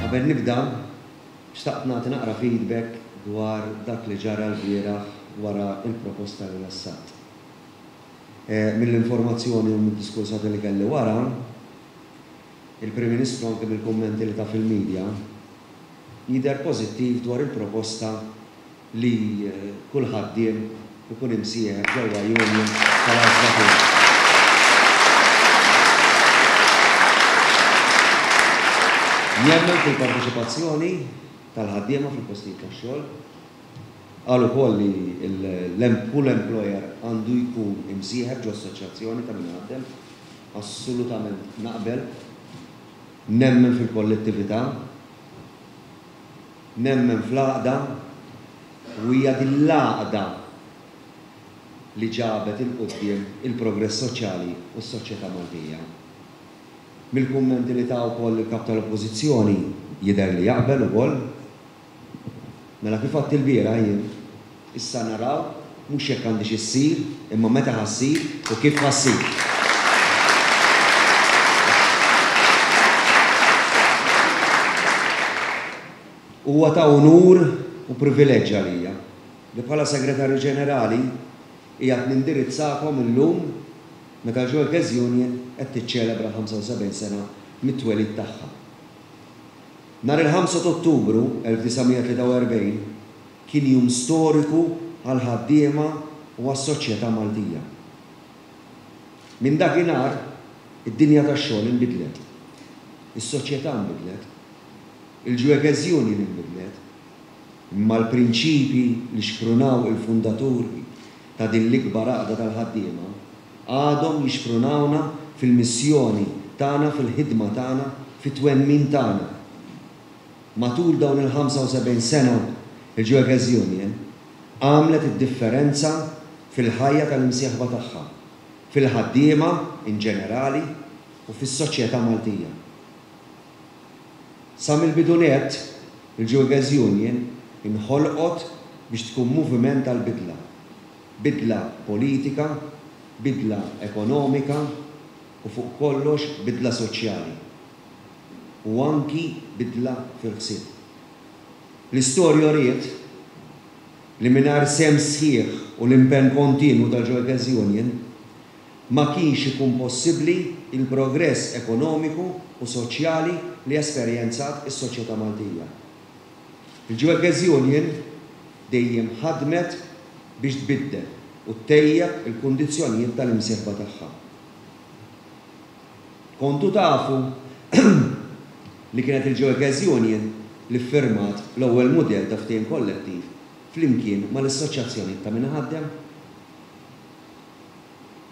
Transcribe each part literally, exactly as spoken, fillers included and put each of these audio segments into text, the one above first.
Qabel nibda, xtaqt nagħti naqra feedback dwar dak li ġara l-bieraħ wara il-proposta li ressaqt. Mill-informazzjoni u mid-diskursati li kelli wara, il-Prim Ministru anke mill-kummenti li ta fil-medja jidher pożittiv dwar il-proposta li kull ħaddiem ikun imsieħeb ġewwa union tal-għażla tiegħu. Jemmen fil-parteċipazzjoni tal-ħaddiema fil-postijiet tax-xogħol. Qal ukoll li kull employer għandu jkun imsieħeb ġo assoċjazzjoni ta' min ħaddem. Assolutament naqbel. Nemmen fil-kollettività, nemmen fl-għaqda, u hija din l-għaqda li ġabet il-quddiem il-progress soċjali u s-soċjetà Maltija. Mill-kummenti li ta wkoll il-kap tal-Oppożizzjoni jidher li jaqbel ukoll. Mela kif għadt il-bieraħ jien, issa naraw mhux jekk għandix issir, imma meta ħassir u kif ħassir. Huwa ta' unur u privileġġ għalija li bħala Segretarju Ġenerali qiegħed nindirizzakom illum meta l-Workers Union qed tiċċelebra ħamsa u sebgħin sena mit-twelid tagħha. Nhar il-ħamsa ta' Ottubru elf disa' mija tlieta u erbgħin kien jum storiku għall-ħaddiema u għas-soċjetà Maltija. Minn dakinhar id-dinja tax-xogħol inbidlet, is-soċjetà nbidlet, il-Workers Union inbidlet, imma l-prinċipi li xprunaw il-fundaturi ta' din l-ikbar għaqda tal-ħaddiema għadhom jixprunawna fil-missjoni tagħna, fil-ħidma tagħna, fit-twemmin tagħna. Matul dawn il-ħamsa u sebgħin sena, il-Workers Union għamlet id-differenza fil-ħajja tal-imsieħba tagħha, fil-ħaddiema in ġenerali u fis-soċjetà Maltija. Sa mill-bidu nett, il-Workers Union inħolqot biex tkun moviment tal-bidla, bidla politika, bidla ekonomika u fuq kollox bidla soċjali u anki bidla fil-ħsieb. L-istorja uriet li mingħajr sehem sħiħ u l-impenn kontinwu tal-Workers Union ma kienx ikun possibbli il-progress ekonomiku u soċjali li esperjenzat is-soċjetà Maltija. Il-Workers Union dejjem ħadmet biex tbiddel u ttejjeb il-kundizzjonijiet tal-imsieħba tagħha. Kontu tafu li kienet il-Workers Union li ffirmat l-ewwel mudell ta' ftehim kollettiv flimkien mal-assoċjazzjonijiet ta' min ħaddem.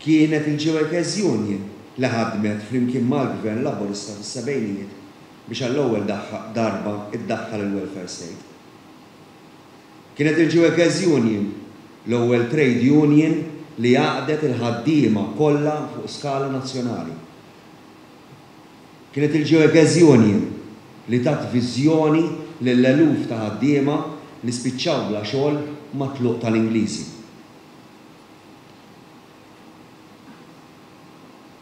Kienet il-Workers Union li ħadmet flimkien mal-Gvern Laburista fis-sebgħinijiet biex għall-ewwel darba iddaħħal il-welfare state. Kienet il-Workers Union l-ewwel trade union li għaqdet il-ħaddiema kollha fuq skala nazzjonali. Kienet il-Workers Union li tat viżjoni lill-eluf ta' ħaddiema li spiċċaw bla xogħol mat-tluq tal-Ingliżi.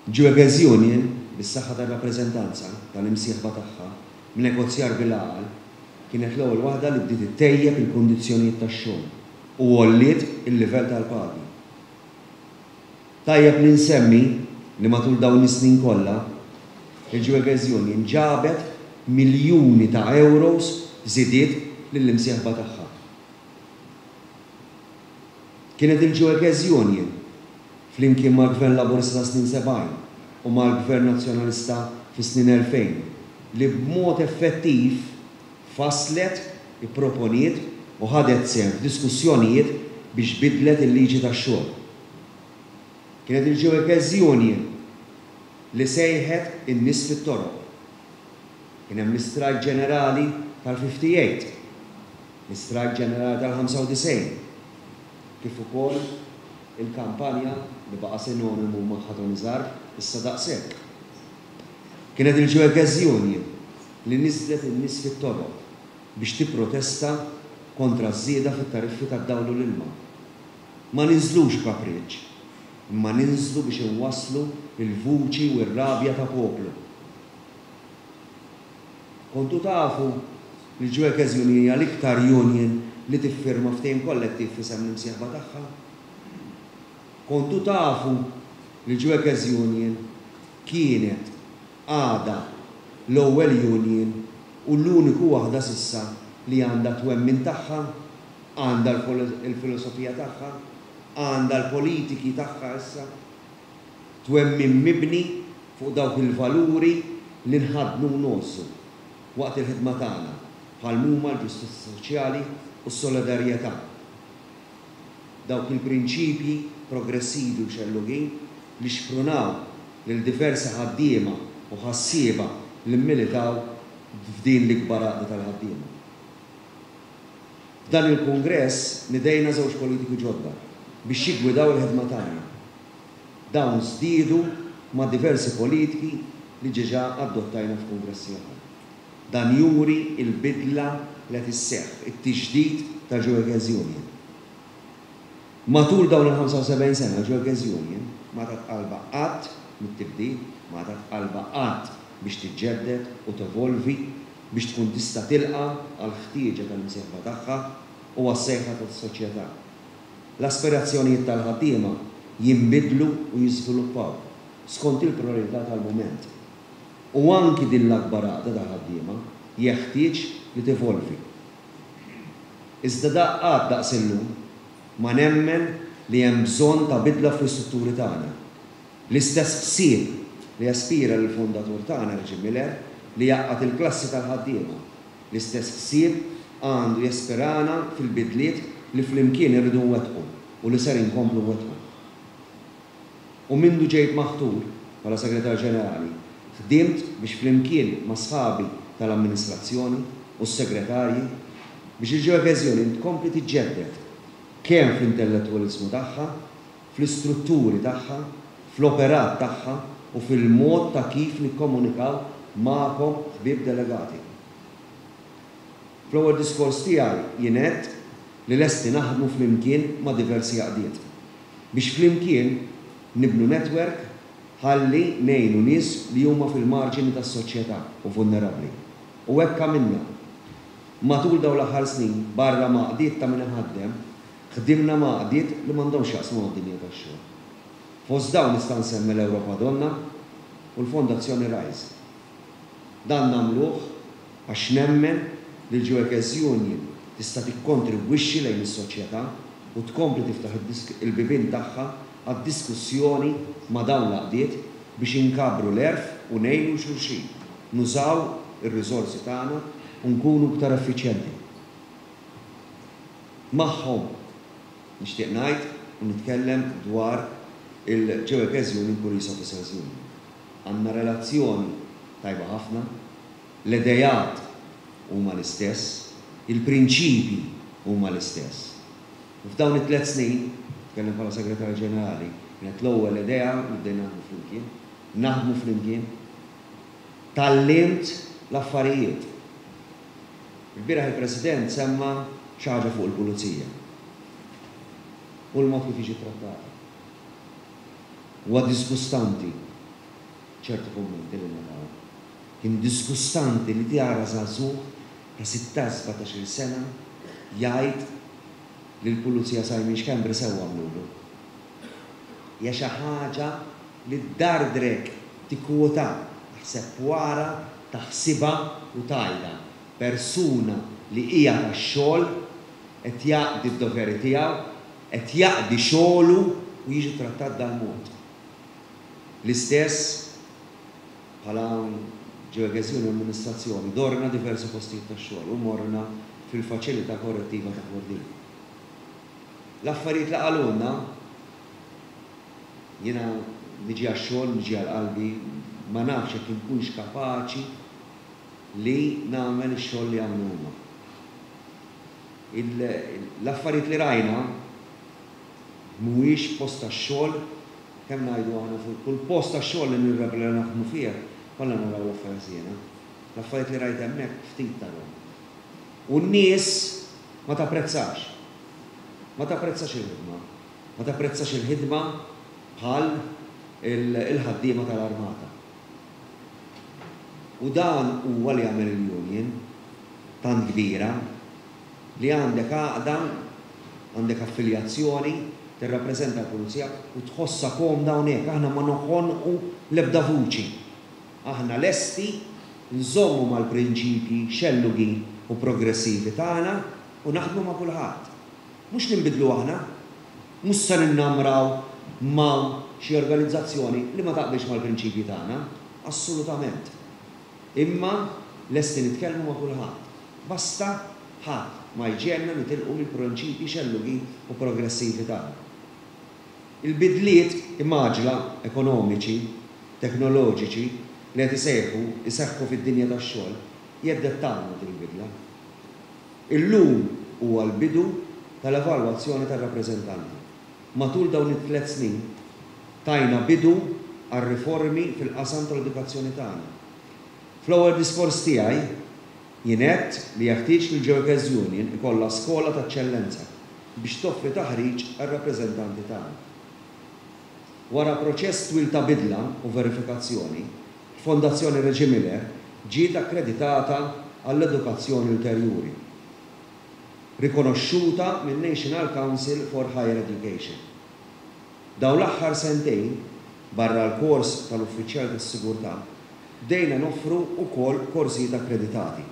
Workers Union, bis-saħħa tar-rappreżentanza tal-imsieħba tagħha, b'negozjar bil-għaqal, kienet l-ewwel waħda li bdiet ittejjeb il-kundizzjonijiet tax-xogħol u għolliet il-livell tal-pagi. Tajjeb li nsemmi li matul dawn is-snin kollha, il-Workers Union ġabet miljuni ta' euros żidiet lill-imsieħba tagħha. Kienet il-Workers Union flimkien mal-Gvern Laburista ta' snin sebgħin u mal-Gvern Nazzjonalista fis-snin elfejn li b'mod effettiv faslet, ipproponiet u ħadet sehem f'diskussjonijiet biex bidlet il-liġi tax-xogħol. Kienet il-Workers Union li sejħet in-nies fit-toroq. Kien hemm l-istrajk ġenerali tal-fifty-eight, l-istrajk ġenerali tal-ħamsa u disgħin, kif ukoll il-kampanja li baqa' sinonimu magħha Tony Zarb issa daqshekk. Kienet il-Workers Union li niżlet in-nies fit-toroq biex tipprotesta kontra ż-żieda fit-tariffi tad-dawl u l-ilma. Ma ninżlux kapriċċ, imma ninżlu biex inwasslu il-vuċi u r-rabja ta' poplu. Kontu tafu li l-Workers Union hija l-iktar union li tiffirma ftehim kollettiv f'isem l-imsieħba tagħha? Kontu tafu li l-Workers Union kienet, għadha, l-ewwel union u l-uniku waħda s'issa li għandha twemmin tagħha, għandha l-filosofija tagħha, għandha l-politiki tagħha issa, twemmin mibni fuq dawk il-valuri li nħaddnu u ngħożżu waqt il-ħidma tagħna, bħal huma l-ġustizzja soċjali u s-solidarjetà. Dawk il-prinċipji progressivi u xellugin li xprunaw lil diversi ħaddiema u ħassieba li mmilitaw f'din l-ikbar għaqda tal-ħaddiema. F'dan il-kungress nidejna żewġ politiki ġodda biex jiggwidaw il-ħidma tagħna. Dawn żdiedu ma' diversi politiki li ġeġa adottajna f'kungressi oħra. Dan juri il-bidla li qed isseħħ, it-tiġdid tal-Workers Union. Matul dawn il-ħamsa u sebgħin sena l-Workers Union ma tat qalba qatt mit-tibdil, ma tat qalba qatt biex tiġġedded u tevolvi biex tkun tista' tilqa' għall-ħtieġa tal-imsieħba tagħha u għas-sejħa tas-soċjetà. L-aspirazzjonijiet tal-ħaddiema jinbidlu u jiżviluppaw skont il-priorità tal-mument. U anki din l-akbar għaqda ta' ħaddiema jeħtieġ li tevolvi. Iżda daqqat daqs illum ma nemmen li hemm bżonn ta' bidla fl-istrutturi tagħna. L-istess ħsieb li jaspira lill-fondatur tagħna Reggie Miller li jgħaqqad il-klassi tal-ħaddiema. L-istess ħsieb għandu jaspirana fil-bidliet li flimkien irridu nwettqu u li ser inkomplu nwettqu. U mindu ġejt maħtur bħala segretarju ġenerali, ħdimt biex flimkien ma' sħabi tal-amministrazzjoni u s-segretarji biex il-Workers Union tkompli tiġġedded kemm fl-intellettwaliżmu tagħha, fl-istrutturi tagħha, fl-operat tagħha u fil-mod ta' kif nikkomunikaw magħkom ħbieb delegati. Fl-ewwel diskors tiegħi jien għedt li lesti naħdmu flimkien ma' diversi għaqdiet biex flimkien nibnu netwerk ħalli ngħinu nies li huma fil-marġini tas-soċjetà u vulnerabbli. U hekk għamilna. Matul dawn l-aħħar snin, barra ma' għaqdiet ta' min iħaddem, ħdimna ma' għaqdiet li m'għandhomx jaqsmu mad-dinja tax-xogħol. Fost dawn nista' nsemmi l-Ewropa Donna u l-Fondazzjoni Rise. Dan nagħmluh għax nemmen li l-Workers Union tista' tikkontribwixxi lejn is-soċjetà u tkompli tiftaħ il-bibien tagħha għad-diskussjoni ma' dawn l-għaqdiet biex inkabru l-għerf u ngħinu xulxin, nużaw ir-riżorsi tagħna u nkunu iktar effiċjenti. Magħhom nixtieq ngħid u nitkellem dwar il-Workers Union Police Officers Union. Għandna relazzjoni tajba ħafna, l-idejat huma l-istess, il-prinċipji huma l-istess. U f'dawn it-tliet snin, nitkellem bħala segretarju ġenerali, kienet l-ewwel idea li bdejna naħdmu flimkien, naħdmu flimkien, tgħallimt l-affarijiet. Il-bieraħ il-President semma xi ħaġa fuq il-pulizija u l-mod kif jiġi trattata. Huwa disgustanti ċertu kummenti li naraw. Kien disgustanti li tara żagħżugħ ta' sittax sbatax-il sena jgħid li l-pulizija Simon Schembri sewwa għamlulu. Hija xi ħaġa li ddardrek tikkwota, taħseb wara, taħsibha u tgħidha. Persuna li hija tax-xogħol qed jaqdi d-doveri tiegħu, qed jaqdi xogħlu u jiġi trattat dal-mod. L-istess bħala Workers Union amministrazzjoni, dorna diversi postijiet tax-xogħol u morna fil-faċilità korrettiva ta' Kordin. L-affarijiet li qalulna, jiena niġi għax-xogħol, niġi għal qalbi, ma nafx jekk inkunx kapaċi li nagħmel ix-xogħol li għamlu huma. L-affarijiet li rajna mhuwiex post tax-xogħol, kemm ngħidu aħna fuq kull post tax-xogħol li nirrebla naħdmu fih, kollha naraw l-affarijiet jiena. L-affarijiet li rajt hemmhekk ftit tarhom. U n-nies ma tapprezzax. Ma tapprezzax il-ħidma. Ma tapprezzax il-ħidma bħal il-ħaddiema tal-armata. U dan huwa li jagħmel il-union tant kbira li għandek għaqda, għandek affiljazzjoni, tirrappreżenta l-pulizija u tħossha komda hawnhekk. Aħna ma noħonqu l-ebda vuċi. Aħna lesti nżommu mal-prinċipji xellugin u progressivi tagħna u naħdmu ma' kulħadd. Mhux ninbidlu aħna, mhux se ninnamraw ma' xi organizzazzjoni li ma taqbilx mal-prinċipji tagħna, assolutament. Imma lesti nitkellmu ma' kulħadd. Basta ħadd ma jġegħelna nitilqu mill-prinċipji xellugin u progressivi tagħna. Il-bidliet imgħaġġla ekonomiċi, teknoloġiċi li qed isejħu iseħħu fid-dinja tax-xogħol jeddettawna din il-bidla. Illum huwa l-bidu tal-evalwazzjoni tar-rappreżentanti. Matul dawn it-tliet snin tajna bidu għar-riformi fil-qasam tal-edukazzjoni tagħna. Fl-ewwel diskors tiegħi jien għedt li jeħtieġ li l-Workers Union ikollha skola ta' eċċellenza biex toffri taħriġ għar-rappreżentanti tagħna. Wara proċess twil ta' bidla u verifikazzjoni, Fondazzjoni Reġi Miller ġiet akkreditata għall-edukazzjoni ulterjuri, rikonoxxuta minn National Council for Higher Education. Dawn l-aħħar sentejn, barra l-kors tal-uffiċjal tas-sigurtà, bdejna noffru wkoll korsijiet akkreditati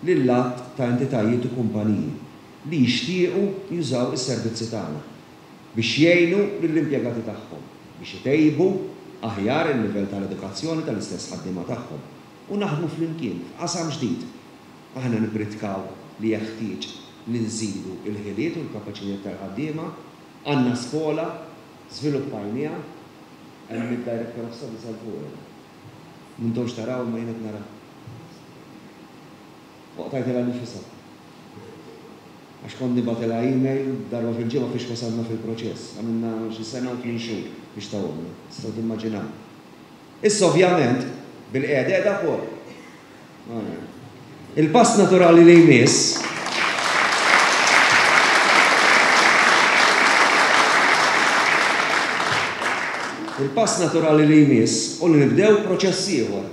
lil għadd ta' entitajiet u kumpaniji li jixtiequ jużaw is-servizzi tagħna biex jgħinu lill-impjegati tagħhom biex itejbu aħjar il-livell tal-edukazzjoni tal-istess ħaddiema tagħhom u naħdmu flimkien f'qasam ġdid. Aħna nippritkaw li jeħtieġ li nżidu il-ħiliet u l-kapaċitajiet tal-ħaddiema, għandna skola żviluppajniha, hemm id-Director of Studies għal fuq. M'intomx taraw ma jien qed nara. Waqtajtilha nifisha. Għax kont nibgħatilha email darba fil-ġimgħa fiex wasalna fil-proċess. Għamilna xi sena u tmien xhur biex tawhomna. Tistgħu timmaġinaw. Issa ovvjament bil-qiegħda qiegħda wkoll. Il-pass naturali li jmiss Il-pass naturali li jmiss u li nibdew proċess ieħor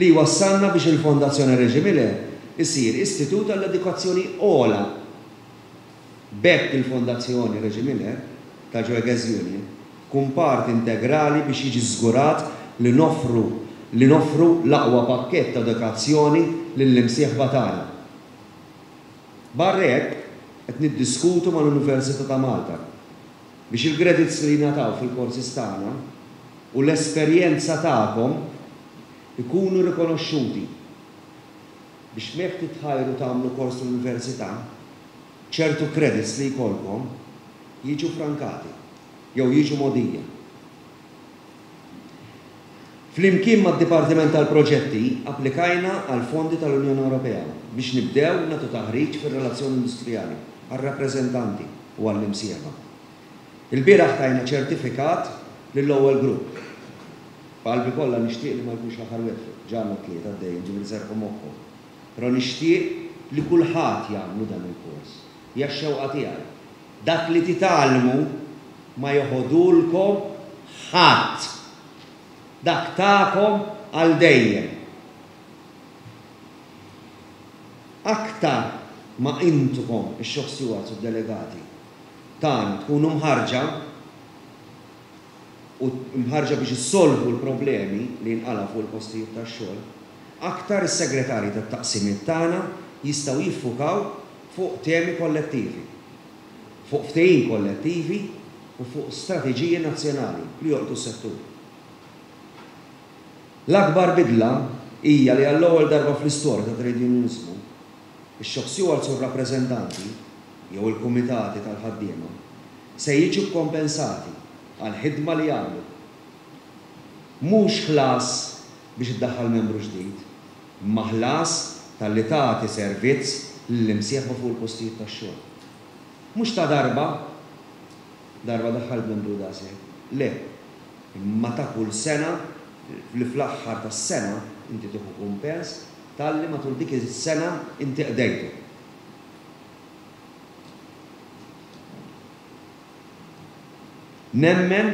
li wassalna biex il-Fondazzjoni Reġi Miller isir istitut għall-edukazzjoni ogħla. B'hekk il-Fondazzjoni Reġi Miller tal-Workers Union tkun parti integrali biex jiġi żgurat li noffru li noffru l-aqwa pakkett ta' edukazzjoni lill-imsieħba tagħna. Barra hekk qed niddiskutu mal-Università ta' Malta biex il-credits li jingħataw fil-korsi tagħna u l-esperjenza tagħkom ikunu rikonoxxuti biex meta titħajru tagħmlu kors l-università, ċertu credits li jkollkom jiġu frankati jew jiġu mogħdija. Flimkien mad-Dipartiment tal-Proġetti applikajna għal fondi tal-Unjoni Ewropea biex nibdew nagħtu taħriġ fir-relazzjoni industrijali għar-rappreżentanti u għall-imsieħba. Il-bieraħ tajna ċertifikat lill-ewwel grupp. B'qalbi kollha nixtieq li ma jkunx l-aħħar wieħed, ġa għandna tlieta għaddejjin, ġifieri serħu moħħhom. Però nixtieq li kulħadd jagħmlu dan il-kors. Hija x-xewqa tiegħi. Dak li titgħallmu ma joħodulkom ħadd. Dak tagħkom għal dejjem. Aktar ma intukom ix-shop stewards u d-delegati tagħna tkunu mħarġa u mħarġa biex issolvu l-problemi li jinqalgħu fuq il-postijiet tax-xogħol, aktar is-segretarji tat-taqsimiet tagħna jistgħu jiffukaw fuq temi kollettivi, fuq ftehim kollettivi u fuq strateġiji nazzjonali li jolqtu s-settur. L-akbar bidla hija li għall-ewwel darba fl-istorja ta' trade unionizmu, ix-shop stewards u r-rappreżentanti jew il-kumitati tal-ħaddiema se jiġu kompensati għal ħidma li jagħmlu. Mhux ħlas biex iddaħħal membru ġdid, imma ħlas talli tagħti servizz lill-imsieħba fuq il-postijiet tax-xogħol. Mhux ta' darba, darba daħħal membru daqshekk, le, imma ta' kull sena li fl-aħħar tas-sena inti tieħu kumpens talli matul dik is-sena inti qdejtu. Nemmen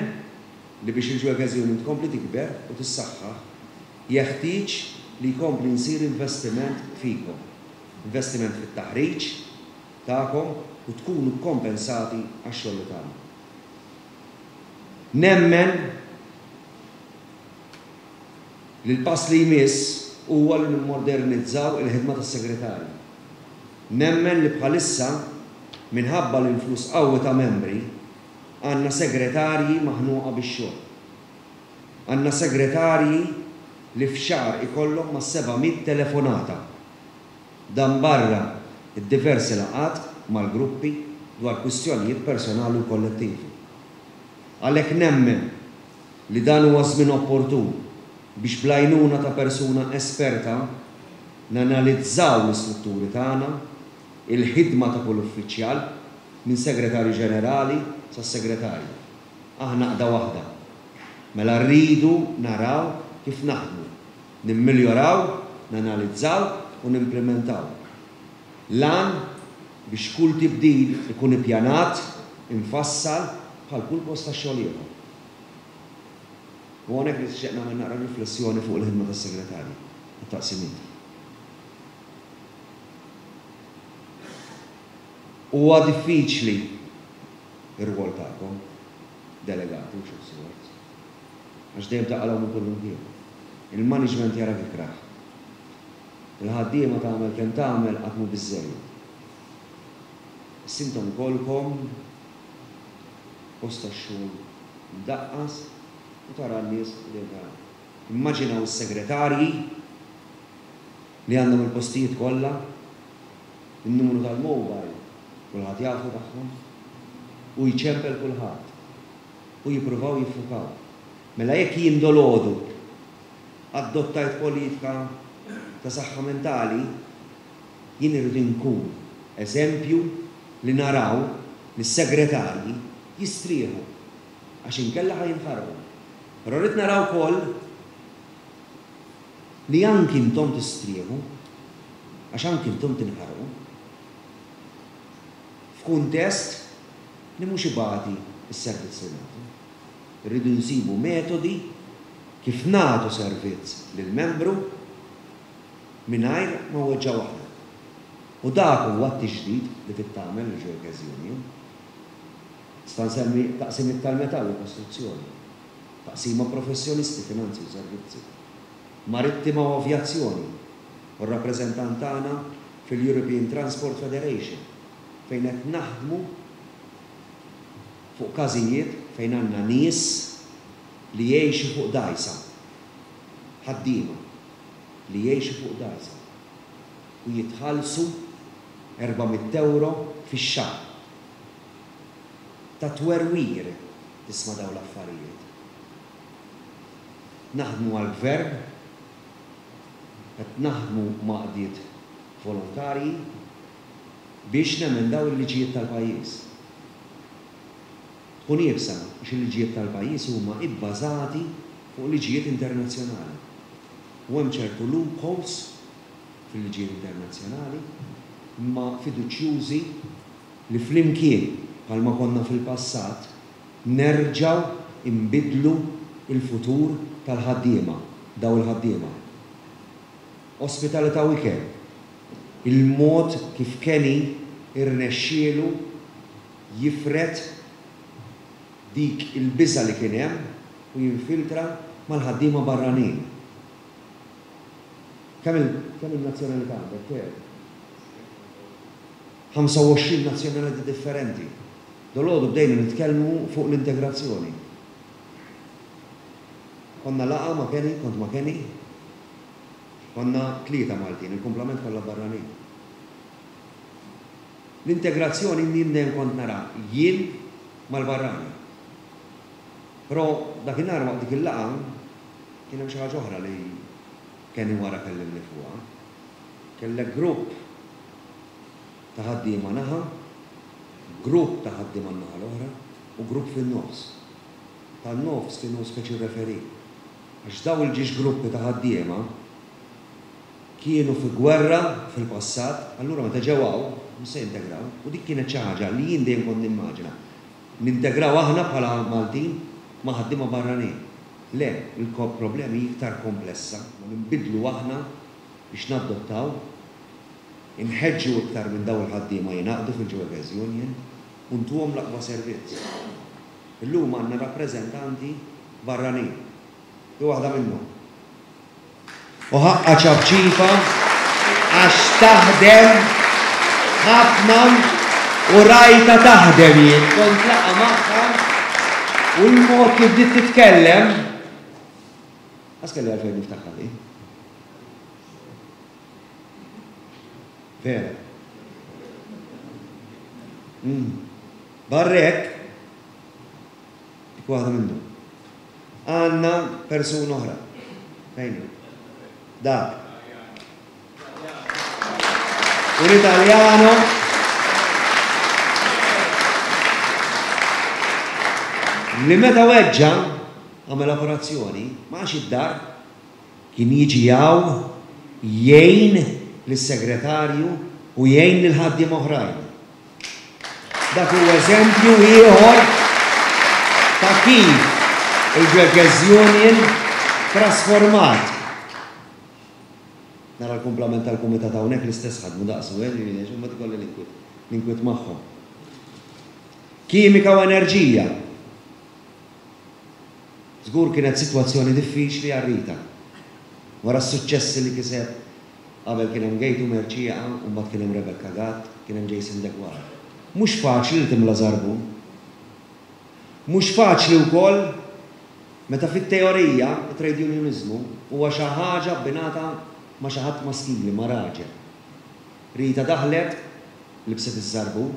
li biex il-Workers Union tkompli tikber u tissaħħaħ jeħtieġ li jkompli nsir investiment fikom. Investiment fit-taħriġ tagħkom u tkunu kompensati għax-xogħol li tagħmlu. Nemmen li l-pass li jmiss huwa li nimmodernizzaw il-ħidma tas-segretarju. Nemmen li bħalissa minħabba l-influss qawwi ta' membri għandna segretarji maħnuqa bix-xogħol. Għandna segretarji li f'xahar ikollhom ma' seba' mitt telefonata. Dan barra id-diversi laqgħat mal-gruppi dwar kwistjonijiet personali u kollettivi. Għalhekk nemmen li dan huwa żmien opportun biex bl-għajnuna ta' persuna esperta nanalizzaw l-istrutturi tagħna, il-ħidma ta' kull uffiċjal, minn segretarju ġenerali sa segretarju. Aħna għaqda waħda. Mela rridu naraw kif naħdmu, nimmiljoraw, nanalizzaw u nimplementaw. Lan biex kull tibdil ikun ippjanat, infassal bħal kull post ta' xogħol ieħor. U hawnhekk nixtieq nagħmel naqra riflessjoni fuq il-ħidma tas-segretarji tat-taqsimiet. Huwa diffiċli ir-rwol tagħkom, delegati u shop stewards, għax dejjem taqalgħu minn kull imkien. Il-management jara ikrah. Il-ħaddiema tagħmel kemm tagħmel qatt mhu biżżejjed. Issa intom kolkom post tax-xogħol mdaqqas u tara n-nies li tara. Immaġinaw is-segretarji li għandhom il-postijiet kollha, in-numru tal-mobile kulħadd jafu tagħhom, u jċempel kulħadd u jippruvaw jiffukaw. Mela jekk jien dolodu adottajt politika ta' saħħa mentali, jien irrid inkun eżempju li naraw li s-segretarji jistrieħu għax inkella ħa jinħarqu. Però rrid naraw ukoll li anki intom tistrieħu għax anki intom tinħarqu f'kuntest li mhux ibati s-servizz li nagħtu. Irridu nsibu metodi kif nagħtu servizz lill-membru mingħajr ma weġġa' waħda. U dak huwa t-tiġdid li trid tagħmel il-Workers Union. Nista' nsemmi taqsimiet tal-metall u kostruzzjoni, taqsima professjonisti, finanzi u servizzi, marittima u avjazzjoni, u r-rappreżentant tagħna fil-European Transport Federation, fejn qed naħdmu fuq każijiet fejn għandna nies li jgħixu fuq dgħajsa, ħaddiema li jgħixu fuq dgħajsa u jitħallsu erba' mitt euro fix-xahar. Ta' twerwir tisma' dawn l-affarijiet. Naħdmu għall-gvern, qed naħdmu ma' għaqdiet volontarji biex nemendaw il-liġijiet tal-pajjiż. Tkun iebsa għax il-liġijiet tal-pajjiż huma ibbażati fuq liġijiet internazzjonali. U hemm ċertu loopholes fil-liġijiet internazzjonali, imma fiduċjużi li flimkien bħalma konna fil-passat nerġgħu imbidlu il-futur tal-ħaddiema, daw il-ħaddiema. Ospitalità u ikel, il-mod kif Kenny irnexxielu jifred dik il-biża li kien hemm u jinfiltra mal-ħaddiema barranin. Kemm il-, kemm il-nazzjonalità għandek, Ter? ħamsa u għoxrin nazzjonalità differenti. Dolodu bdejna nitkellmu fuq l-integrazzjoni. Konna laqa ma' Kenny, kont ma' Kenny, konna tlieta Maltin, il-kumplament kollha barranin. L-integrazzjoni jien dejjem kont nara jien mal-barrani. Però dakinhar waqt dik il-laqa kien hemm xi ħaġa oħra li Kenny wara kellimni fuqha. Kellek grupp ta' ħaddiema naħa, grupp ta' ħaddiema naħa l-oħra u grupp fin-nofs. Tan-nofs kienu speċi referi. Għax daw il-ġiex gruppi ta' ħaddiema kienu fi gwerra fil-passat, allura meta ġew hawn mhux se jintegraw, u dik kienet xi ħaġa li jien dejjem kont nimmaġina. Nintegraw aħna bħala Maltin ma' ħaddiema barranin. Le, il-problemi iktar komplessa, u nbidlu aħna biex nadottaw, inħeġġu iktar minn dawn il-ħaddiema jingħaqdu fil-Workers Union u ntuhom l-aqwa servizz. Illum għandna rappreżentanti barranin. Di waħda minnhom. U ħaqqa ċapċipa għax taħdem ħafna u rajta taħdem jien. Kont laqa magħha u l-mod kif bdiet titkellem. Għas kelli għalfejn niftaħha di. Vera. Barrek, dik waħda minnhom. Għandna persuna oħra. Fejn? Dak. Un Italjano li meta weġġa għamel operazzjoni, ma għax id-dar, kien jiġi hawn jgħin lis-segretarju u jgħin lil ħaddiem oħrajn. Dak huwa eżempju ieħor ta' kif il-Workers Union trasformat. Nara l-kumplament tal-kumitat hawnhekk l-istess ħadmu daqsu, eh, ma tkolli l-inkwit magħhom. Kimika u enerġija. Żgur kienet sitwazzjoni diffiċli għal Rita. Wara s-suċċessi li kiseb qabel kien hemm Gejtu Merċieqa u mbagħad kien hemm Rebecca Gatt, kien hemm Jason Deguara. Mhux faċli li timla żarbun. Mhux faċli wkoll meta fit-teorija it-trade unionizmu huwa xi ħaġa abbinata ma' xi ħadd maskili, ma' raġel. Rita daħlet, libset iż-żarbun,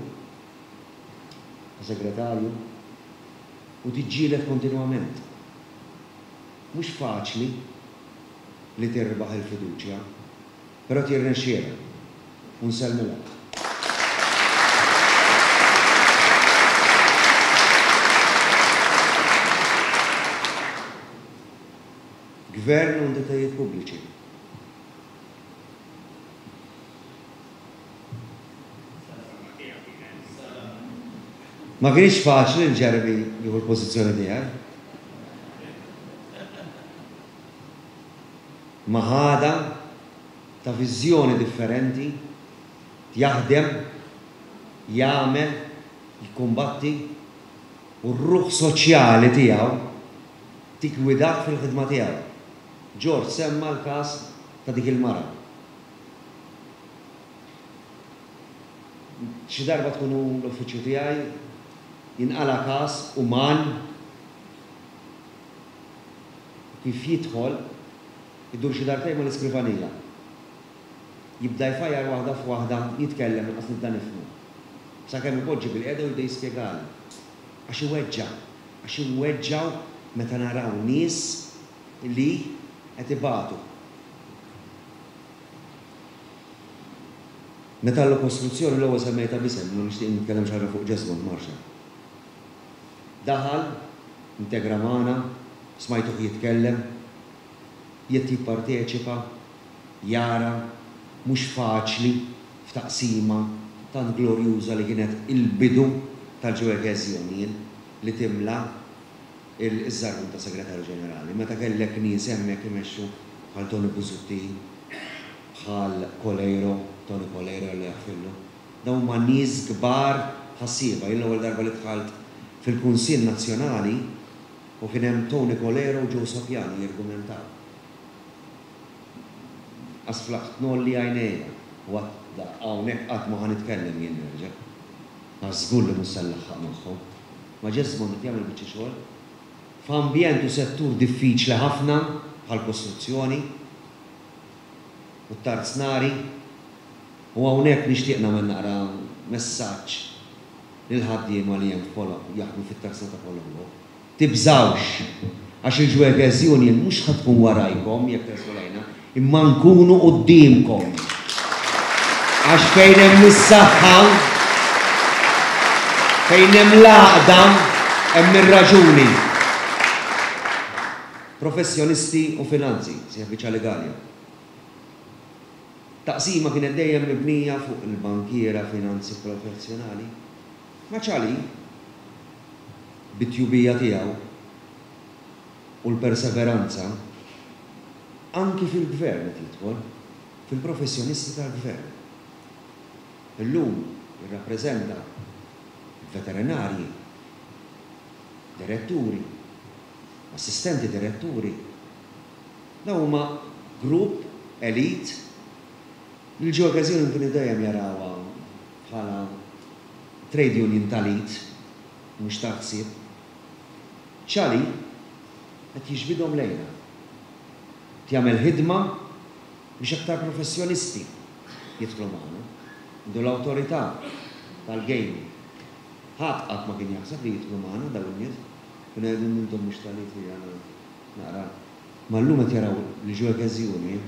segretarju, u tiġġieled kontinwament. Mhux faċli li tirbaħ il-fiduċja, però tirnexxielha u nsellmilha. Gvern u entitajiet pubbliċi. Ma kienx faċli li Jeremy jieħu l-pożizzjoni tiegħi. Ma ħada ta' viżjoni differenti, jaħdem, jagħmel, jikkumbatti u r-ruħ soċjali tiegħu tiggwidak fil-ħidma tiegħu. George semma l-każ ta' dik il-mara. Xi darba tkunu l-uffiċċju tiegħi jinqala każ uman kif jidħol idur xi darbtejn mal-iskrivanija. Jibda jfajjar waħda f'waħda, jitkellem inqas nibda nifhmu. Sakemm ipoġġi bil-qiegħda u jibda jispjegali. Għax iweġġa', għax inweġġgħu meta naraw nies li qed ibatu. Meta l-kostruzzjoni l-ewwel semmejta b'isem, ma nixtieq nitkellem xi ħaġa fuq Jesmond Marshall. Daħal, integra magħna, smajtuh jitkellem, jett jipparteċipa, jara, mhux faċli f'taqsima tant glorjuża li kienet il-bidu tal-Workers Union li timla il-żarbun ta' segretarju ġenerali. Meta kellek nies hemmhekk imexxu bħal Tony Busuttil, bħal Coleiro, Tony Coleiro li jaħfillu. Dawn huma nies kbar ħassieba. Jien l-ewwel darba li dħalt fil-Kunsill Nazzjonali u kien hemm Tony Coleiro u Joe Sapiano jirgumentaw. Asflaħt nolli għajnejja, u għad hawnhekk qatt ma ħa nitkellem jien nerġa'. Għax żgur li mhux se nlaħħaq magħhom. Ma Jesmond qed jagħmel biċċa xogħol f'ambjent u settur diffiċli ħafna bħal kostruzzjoni u t-tarznari, u hawnhekk nixtieq nagħmel naqra messaġġ lil ħaddiema li hemm f'Kolombo, jaħdmu fit-tarzna ta' Kolombo. Tibżgħux, għax il-Workers Union mhux ħa tkun warajkom jekk tersqu lejna, imma nkunu quddiemkom. Għax fejn hemm is-saħħa, fejn hemm l-għaqda, hemm ir-raġuni. Professjonisti u finanzi, sieħ biċċa legali. Taqsima kienet dejjem mibnija fuq il-bankiera, finanzi professjonali. Ma ċali, bit-tjubija tiegħu u l-perseveranza, anki fil-gvern qed jidħol, fil-professjonisti tal-gvern. Illum jirrappreżenta veterinarji, diretturi, assistenti diretturi. Dawn huma grupp elit li l-Workers Union kienu dejjem jarawha bħala trade union tal-id, mhux ta' ħsieb. Ċali qed jiġbidhom lejna. Jagħmel ħidma biex aktar professjonisti jidħlu magħna. Għandu l-awtorità tal-gaming. Ħadd qatt ma kien jaħseb li jidħlu magħna dawn in-nies. Kienu jgħidu intom mhux tal-id li għandna naqra. Ma llum qed jaraw li Workers Union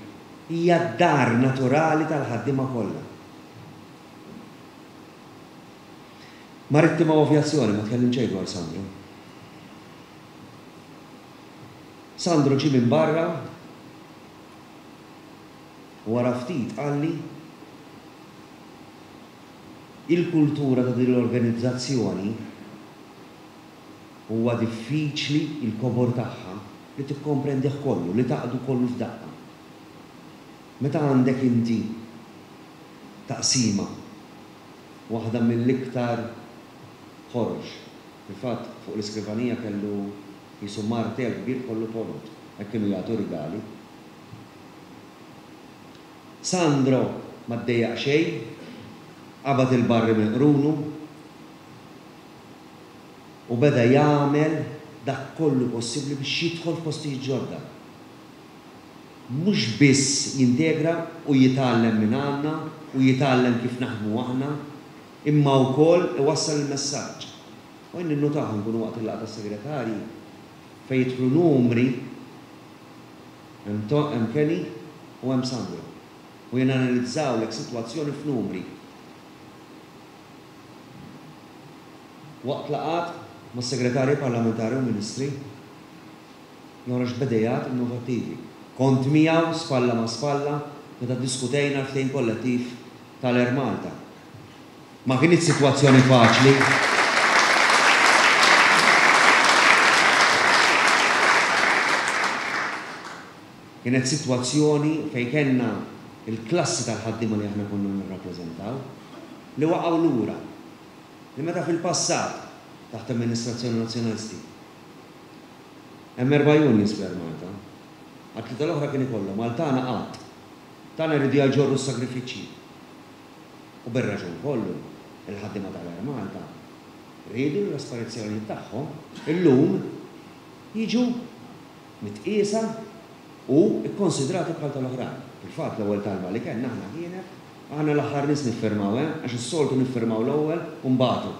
hija d-dar naturali tal-ħaddiema kollha. Marittima u avjazzjoni, ma tkellim xejn dwar Sandro. Sandro ġie minn barra u wara ftit qalli il-kultura ta' din l-organizzazzjoni huwa diffiċli il-kobor tagħha li tikkomprendih kollu, li taqdu kollu f'daqqa. Meta għandek inti taqsima waħda mill-iktar ħorox. Fil-fatt fuq l-iskrivanija kellu jisu martel kbir kollu ponot, hekk kienu jagħtu rigali. Sandro ma ddejjaq xejn, qabad il-barri minn qrunu u beda jagħmel dak kollu possibbli biex jidħol f'postijiet ġodda. Mhux biss jintegra u jitgħallem minn għandna u jitgħallem kif naħdmu aħna, imma wkoll iwassal il-messaġġ. U jien ninnutaw nkunu waqt il-laqgħa tas-segretarji fejn jidħlu numri hemm Kenny u hemm Sandro. U jenanalizzawlek sitwazzjoni f'numri. Waqt laqgħat mas-segretarji parlamentari u ministri joħroġ b'idejat innovattivi. Kont miegħu spalla ma' spalla meta ddiskutejna l-ftehim kollettiv tal-Air Malta. Ma kinitx sitwazzjoni faċli. Kienet sitwazzjoni fejn kellna il-klassi tal-ħaddiema li aħna konna nirrappreżentaw li waqgħu lura. Li meta fil-passat taħt amministrazzjoni nazzjonalisti hemm erba' unions fl-Air Malta. Għat-tlieta l-oħra kien ikollhom għal tagħna qatt. Tagħna jridu jaġorru s-sagrifiċċji. U bir-raġun kollu, il-ħaddiema tal-Air Malta rridu li l-aspirazzjonijiet tagħhom illum jiġu mitqiesa u kkonsidrati bħal tal-oħrajn. Fil-fatt l-ewwel talba li kellna aħna kienet aħna l-aħħar nies niffirmaw, eh, għax is-soltu niffirmaw l-ewwel u mbagħtu.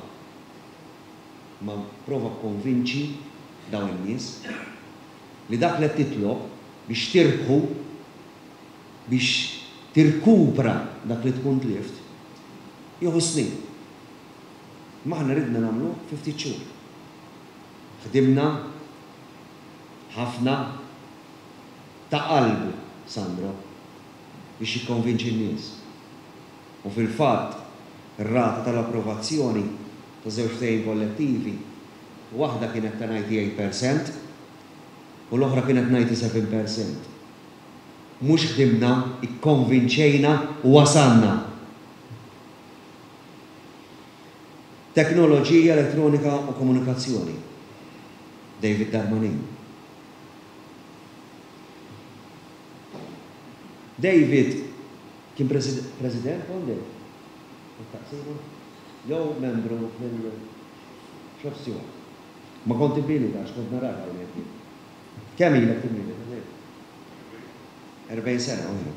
Ma prova kkonvinċi dawn in-nies li dak li qed titlob biex tirbħu, biex tirkupra dak li tkun tlift, jieħu snin. Ma aħna ridna nagħmlu fi ftit xhur. Ħdimna ħafna ta' qalbu Sandro biex jikkonvinċi n-nies. U fil-fatt ir-rata tal-approvazzjoni ta' żewġ ftehim kollettivi, waħda kienet ta' ninety-eight percent u l-oħra kienet ninety-seven percent. Mhux ħdimna, ikkonvinċejna u wasalna. Teknoloġija elettronika u komunikazzjoni. David Darmanin. David kien president kont Taqsima? Jew membru fil-Shop Steward. Ma kont imbilita għax kont narak hawnhekk jien. Kemm ilek timilita? erbgħin sena oħra.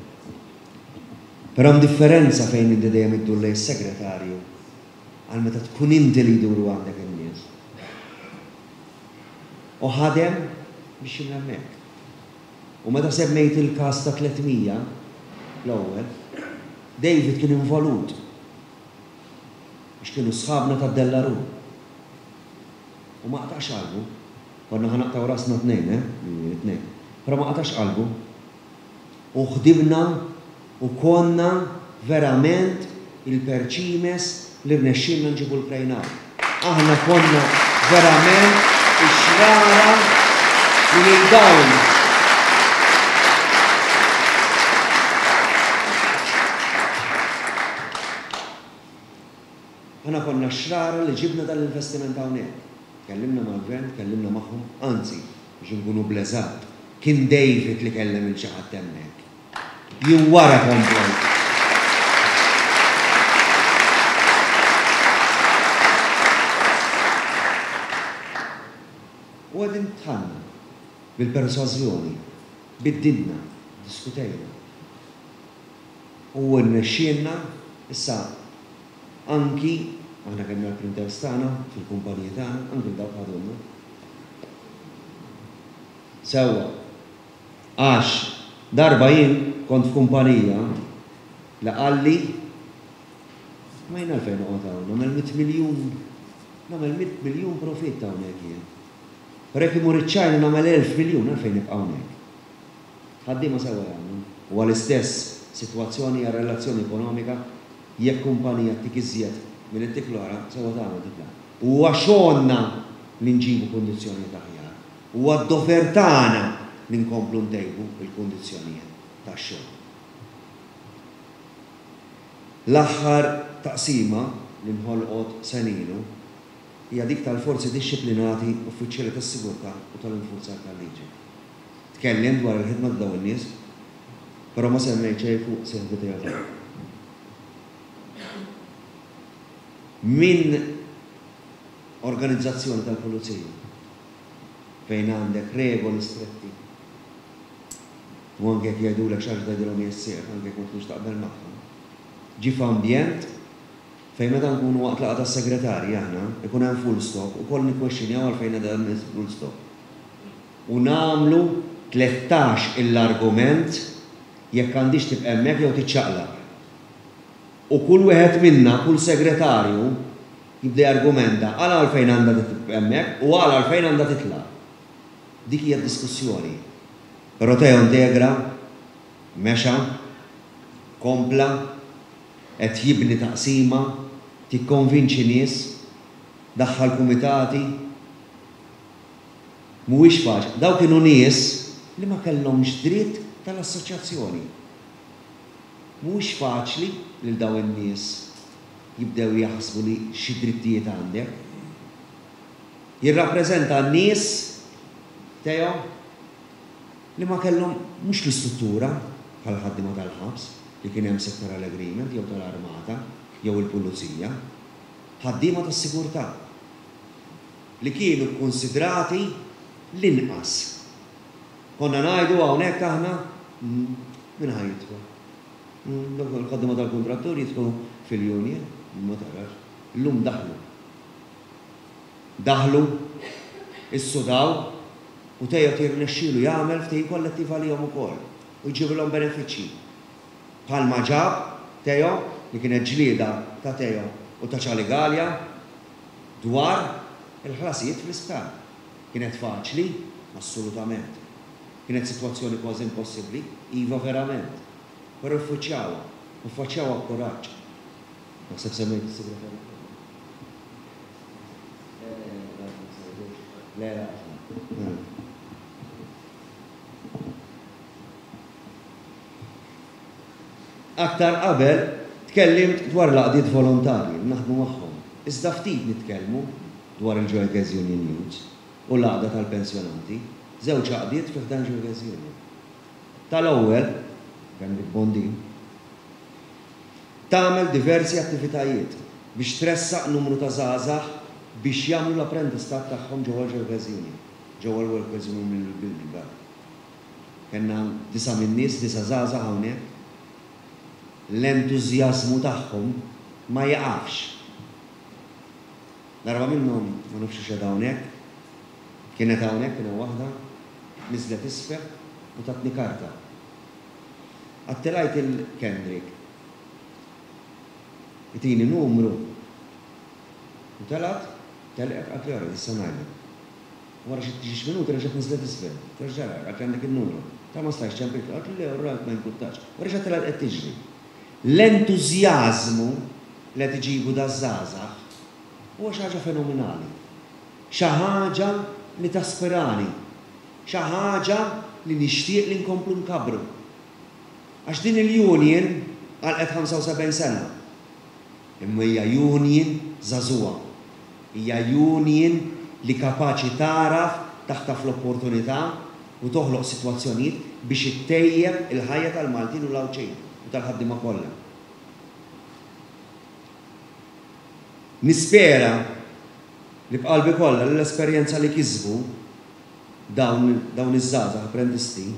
Però hemm differenza fejn inti dejjem iddur lejn is-segretarju għal meta tkun inti li jduru għandek in-nies. U ħadem biex jimla hemmhekk. U meta semmejt il-każ ta' tliet mija l-ewwel, David kien involut biex kienu sħabna ta' Dellaru. U ma qtax qalbu, konna ħanaqtaw rasna tnejn, eh? Tnejn. Però ma qtax qalbu. U ħdimna u konna verament il-perċimes li rnexxilna nġibu l-Krejnaw. Aħna konna verament ix-xrara li lil dawn. Aħna konna xrara li ġibna dal-investiment hawnhekk. Tkellimna mal-gvern, tkellimna magħhom, anzi, biex inkunu bleżat, kien David li kellem il xi ħadd hemmhekk. Jien wara komplejt. U għedin tħanna bil-persważjoni, biddilna, diskutejna. U rnexxielna issa anki aħna kellna l-printers tagħna fil-kumpaniji tagħna, anki dawk ħadulna. Sewwa, għax darba jien kont f'kumpanija li qalli ma jien għalfejn noqgħod hawn, nagħmel mitt miljun, nagħmel mitt miljun profitt hawnhekk jien. Però jekk imur iċ-Ċina nagħmel elf miljun għalfejn nibqa' hawnhekk. Ħaddiema sewwa jagħmlu. Huwa l-istess sitwazzjoni hija relazzjoni ekonomika jekk kumpanija ttik iżjed milli ttik l-oħra, sewwa tagħmel titlaq. Huwa xogħolna li nġibu kundizzjonijiet aħjar. Huwa d-dover tagħna li nkomplu ntejbu l-kundizzjonijiet tax-xogħol. L-aħħar taqsima li nħolqot senilu hija dik tal-forzi dixxiplinati, uffiċjali tas-sigurtà u tal-infurzar tal-liġi. Tkellim dwar il-ħidma ta' dawn in-nies, però ma semmejt xejn fuq sieħbi tiegħu. Min organizzazzjoni tal-pulizija fejn għandek regoli stretti u anke jekk jgħidulek xi ħaġa tgħidilhom jessir, anke jekk ma tkunx taqbel magħhom. Ġi f'ambjent fejn meta nkunu waqt laqgħa tas-segretarji aħna ikun hemm full stop u koll nikkwestjonjaw għalfejn hemm full stop. U nagħmlu tlettax l-argument jekk għandix tibqa' hemmhekk jew tiċċaqlaq. U kull wieħed minna, kull segretarju, jibda jargumenta għal għalfejn għandha tibqa' hemmhekk u għal għalfejn għandha titlaq. Dik hija d-diskussjoni. Però Teo integra, mexa, kompla, qed jibni taqsima, tikkonvinċi nies, daħħal kumitati. Mhuwiex faċli. Daw kienu nies li ma kellhomx dritt tal-assoċjazzjoni. Mhuwiex faċli lil daw in-nies jibdew jaħsbu li xi drittijiet għandek. Jirrappreżenta n-nies Teo li ma kellhom mhux l-istruttura bħal ħaddiema tal-ħabs li kien hemm sectoral agreement jew tal-armata jew il-pulizija, ħaddiema tas-sigurtà li kienu kkonsidrati l-inqas. Konna ngħidu hawnhekk aħna min ħa jidħol? Il-ħaddiema tal-kuntrattur jidħlu fil-union, ma tarax. Illum daħlu. Daħlu, issudaw u Teo tirnexxielu jagħmel ftehim kollettiv għalihom ukoll u jġibilhom benefiċċji. Bħalma ġab Teo li kienet ġlieda ta' Teo u ta' Charlie Galea dwar il-ħlasijiet fl-isptar. Kienet faċli? Assolutament. Kienet sitwazzjoni kważi impossibbli? Iva verament. Però ffaċċjawha, u ffaċċjawha b'kuraġġ. Naħseb semmejt is-segretarju. Le, le, Aktar qabel tkellimt dwar l-għaqdiet volontarji li naħdmu magħhom. Iżda ftit nitkellmu dwar il-Workers Union Youth u l-għaqda tal-pensjonanti, żewġ għaqdiet fi ħdan Workers Union. Tal-ewwel, Kendrick Bondin, tagħmel diversi attivitajiet biex tressaq numru ta' żgħażagħ biex jagħmlu l-apprendistat tagħhom ġewwa l-Workers Union, ġewwa l-Workers Union Building. Kellna disa' min-nies, disa' żgħażagħ hawnhekk. L-entużjażmu tagħhom ma jaqafx. Darba minnhom ma nafx x'għedha hawnhekk, kienet hawnhekk kien hemm waħda, niżlet isfel u tatni karta. Għattilajt il-Kendrick. Itini numru. U telat, telqet għatli għara, issa ngħidlek. Wara xi tiex minuti reġgħet niżlet isfel. Terġa' għatli għandek il-numru. Ta' ma stajx ċempil, għatli le, orrajt ma jinkurtax. U reġgħet telat qed tiġri. L-entużjażmu li qed iġibu daż-żgħażagħ huwa xi ħaġa fenomenali. Xi ħaġa li taspirani. Xi ħaġa li nixtieq li nkomplu nkabbru. Għax din il-union għalqet ħamsa u sebgħin sena. Imma hija union żagħżugħa. Hija union li kapaċi tagħraf taħtaf l-opportunità u toħloq sitwazzjonijiet biex ittejjeb il-ħajja tal-Maltin u l-Għawdxin u tal-ħaddiema kollha. Nispera li b'qalbi kollha li l-esperjenza li kisbu dawn dawn iż-żgħażagħ apprendisti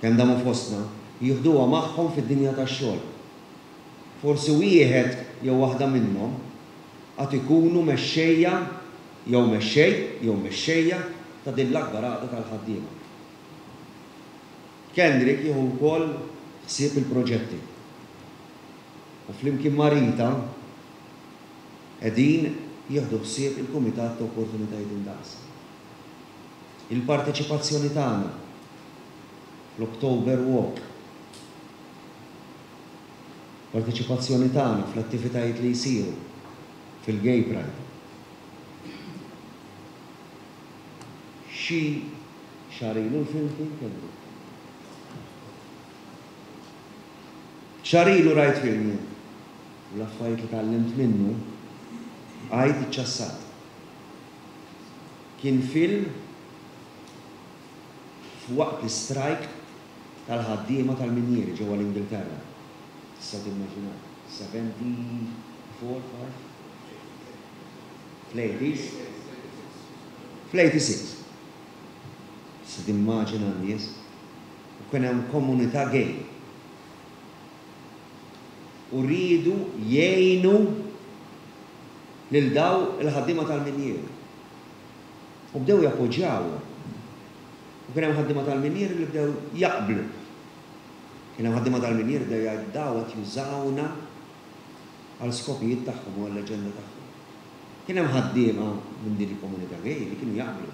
kemm damu fostna jieħduha magħhom fid-dinja tax-xogħol. Forsi wieħed jew waħda minnhom għad ikunu mexxejja jew mexxej jew mexxejja ta' din l-akbar għaqda tal-ħaddiema. Kendrick jieħu wkoll ħsieb il-proġetti. U flimkien ma' Rita qegħdin jieħdu ħsieb il-Kumitat ta' Opportunitajiet Indaqs. Il-parteċipazzjoni tagħna fl-October Walk, parteċipazzjoni tagħna fl-attivitajiet li jsiru fil-Gay Pride. Xi xahar ilu l-film kien Kendrick. Xahar ilu rajt film jien. U l-affarijiet li tgħallimt minnu għajt iċċassat. Kien film f'waqt l-istrajk tal-ħaddiema tal-minjieri ġewwa l-Ingilterra. Tistgħu timmaġinaw, seventy four, five? Fl-eighties? Fl-eighty six. Tista' timmaġina n-nies. U kien hemm komunità gay. U riedu jgħinu lil daw il-ħaddiema tal-minjieri. U bdew jappoġġjawhom. U kien hemm ħaddiema tal-minjieri li bdew jaqblu. Kien hemm ħaddiema tal-minjieri bdew jgħidu daw qed jużawna għal skopijiet tagħhom u għall-aġenda tagħhom. Kien hemm ħaddiema minn din il-komunità gay li kienu jaqblu.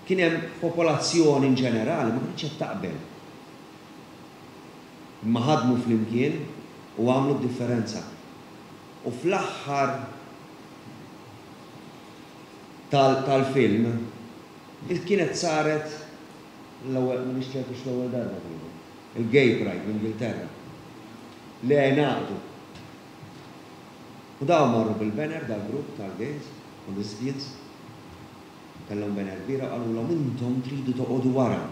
Kien hemm popolazzjoni in ġenerali ma kinitx qed taqbel. Imma ħadmu flimkien u għamlu d-differenza. U fl-aħħar tal-film kienet saret l-ewwel, m'iniex ċertu x'l-ewwel darba kienet, il-Gay Pride l-Ingilterra. Li ngħaqdu. U dawn marru bil-banner dal-grupp tal-gays u lesbians. Kellhom banner kbira u qalulhom intom tridu toqogħdu wara.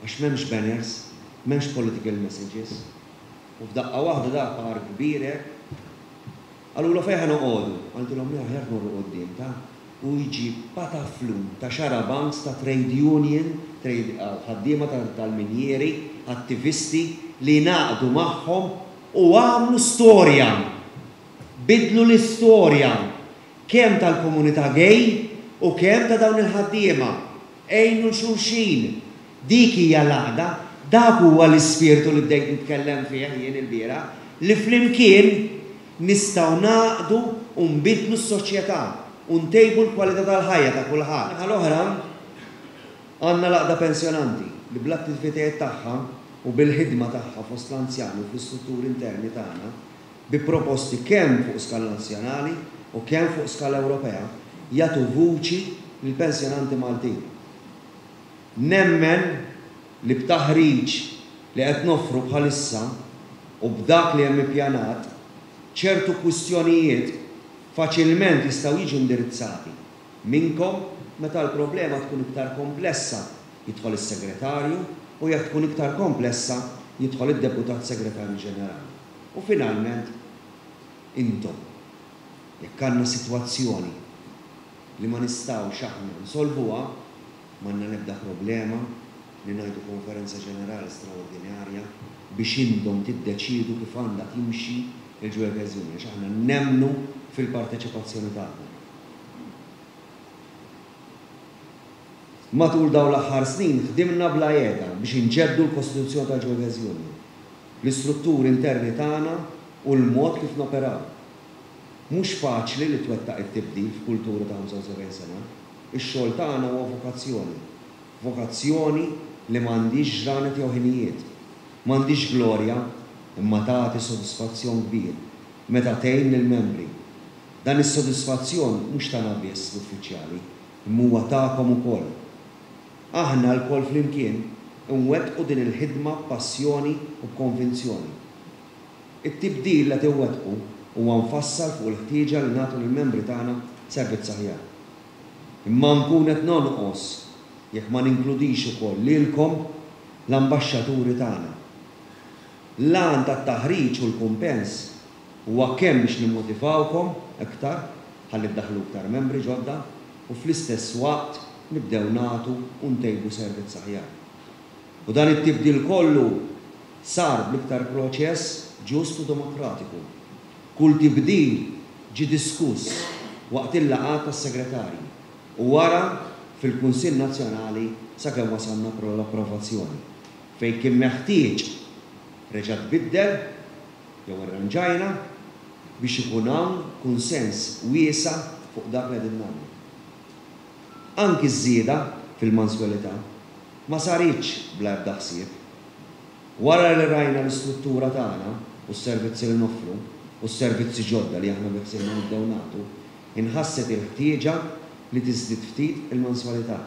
Għax m'hemmx banners, m'hemmx political messages. U f'daqqa waħda dak par kbir hekk. Qalulhom fejn ħa noqogħdu? Qaltilhom le aħjar tmorru quddiem ta' u jġib pataflun ta' xarabanks ta' trade union, trade ħaddiema tal-minjieri, attivisti li ngħaqdu magħhom u għamlu storja. Bidlu l-istorja kemm tal-komunità gay u kemm ta' dawn il-ħaddiema. Għinu l-xulxin. Dik hija l-għaqda, dak huwa l-ispirtu li bdejt nitkellem fih jien il-bieraħ, li flimkien nistgħu naqdu u nbidlu s-soċjetà u ntejbu l-kwalità tal-ħajja ta' kulħadd. Naħa l-oħra għandna l-għaqda pensjonanti li bl-attivitajiet tagħha u bil-ħidma tagħha fost l-anzjani u fl-istrutturi interni tagħna bi proposti kemm fuq skala nazzjonali u kemm fuq skala Ewropea jagħtu vuċi lill-pensjonanti Maltin. Nemmen li b'taħriġ li qed noffru bħalissa u b'dak li hemm ippjanat ċertu kwistjonijiet faċilment jistgħu jiġu indirizzati minnkom meta l-problema tkun iktar komplessa jidħol is-segretarju u jekk tkun iktar komplessa jidħol id-deputat segretarju ġenerali. U finalment intom jekk għandna sitwazzjoni li ma nistgħux aħna nsolvuha, m'għandna l-ebda problema li ngħidu konferenza ġenerali straordinarja biex intom tiddeċiedu kif għandha timxi il-Workers Union, għax aħna nemmnu fil-parteċipazzjoni tagħkom. Matul dawn l-aħħar snin ħdimna bla qiegħda biex inġeddu l-Kostituzzjoni tal-Workers Union, l-istrutturi interni tagħna u l-mod kif noperaw. Mhux faċli li twettaq it-tibdil f'kultura ta' ħamsa u sebgħin sena. Ix-xogħol tagħna huwa vokazzjoni. Vokazzjoni li m'għandix ġranet jew ħinijiet. M'għandix glorja, imma tagħti sodisfazzjon kbir meta tgħin lill-membri. Dan is-sodisfazzjon mhux tagħna biss l-uffiċjali, imma huwa tagħkom ukoll. Aħna lkoll flimkien nwettqu din il-ħidma b'passjoni u b'konvinzjoni. It-tibdil li tiwettqu huwa mfassal fuq il-ħtieġa li nagħtu lill-membri tagħna servizz aħjar. Imma nkun qed nonqos jekk ma ninkludix ukoll lilkom l-ambaxxaturi tagħna. L-għan tat-taħriġ u l-kumpens huwa kemm biex nimmotivawkom iktar ħalli ddaħlu iktar membri ġodda u fl-istess waqt nibdew nagħtu u ntejbu servizz aħjar. U dan it-tibdil kollu sar bl-iktar proċess ġust u demokratiku. Kull tibdil ġie diskuss waqt il-laqgħat tas-segretarji u wara fil-Kunsill Nazzjonali sakemm wasalna l-approvazzjoni. Fejn kien meħtieġ reġa' tbiddel jew irranġajna biex ikun hawn kunsens wiesa' fuq dak li qegħdin nagħmlu. Anki ż-żieda fil-manswelità ma saritx bla ebda ħsieb. Wara li rajna l-istruttura tagħna u s-servizzi li noffru u s-servizzi ġodda li aħna biħsiebna nibdew nagħtu, inħasset il-ħtieġa li tiżdied ftit il-manswalità.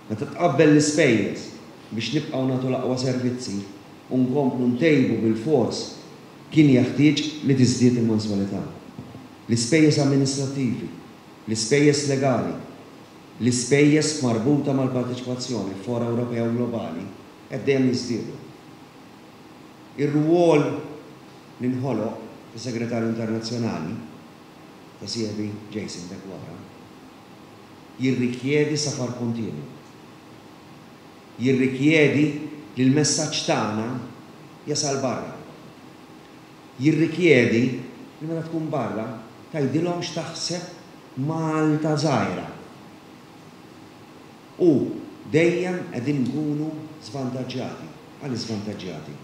Meta tqabbel l-ispejjeż biex nibqgħu nagħtu l-aqwa servizzi u nkomplu ntejbu bil-fors kien jeħtieġ li tiżdied il-manswalità. L-ispejjeż amministrattivi, l-ispejjeż legali, l-ispejjeż marbuta mal-parteċipazzjoni fora Ewropea u globali qed dejjem jiżdiedu. Ir-rwol li nħoloq ta' Segretarju Internazzjonali ta' sieħbi Jason Deguara jirrikjedi safar kontinwu. Jirrikjedi li l-messaġġ tagħna jasal barra. Jirrikjedi li meta tkun barra tgħidilhom x'taħseb Malta żgħira. U dejjem qegħdin nkunu żvantaġġjati. Għal żvantaġġjati.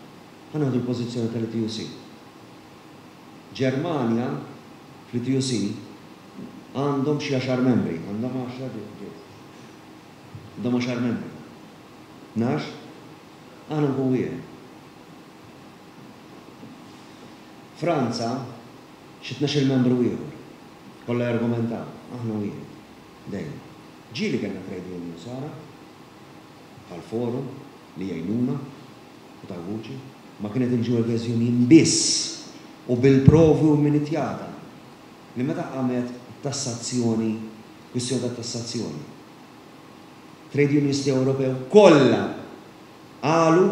Ħa nieħdu l-pożizzjoni tal-I T U C. Ġermanja fl-I T U C għandhom xi għaxar membri, għandhom għaxar ġiet. Għandhom għaxar membri. Nax? Aħna nkun wieħed. Franza xi tnax-il membru ieħor. Kollha jargumentaw, aħna wieħed. Dejjem. Ġieli kellna trade union sara bħal forum li jgħinuna u taw vuċi, ma kienet il-Jewel Union biss u bil-provi u minitjata li meta qamet tassazzjoni, kwistjoni ta' tassazzjoni. Trade unionisti Ewropew kollha qalu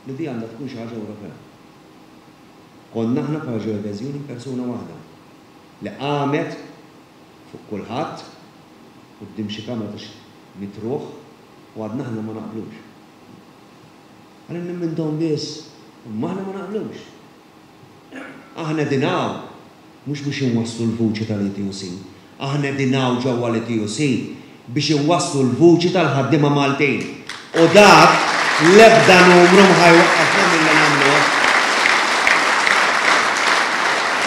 li di għandha tkun xi ħaġa Ewropea. Konna aħna bħala Jewel Union persuna waħda li qamet fuq kulħadd quddiem xi kamra ta' xi mitruħ u għadna aħna ma naqblux. Għalin minnhom biss, imma aħna ma naqblux. Aħna dinaw, mhux biex inwasslu l-vuċi tal-I T U C, aħna dinaw ġewwa l-I T U C biex inwasslu l-vuċi tal-ħaddiema Maltin. U dak l-ebda numru ma ħajwaqqafna milli nagħmluh.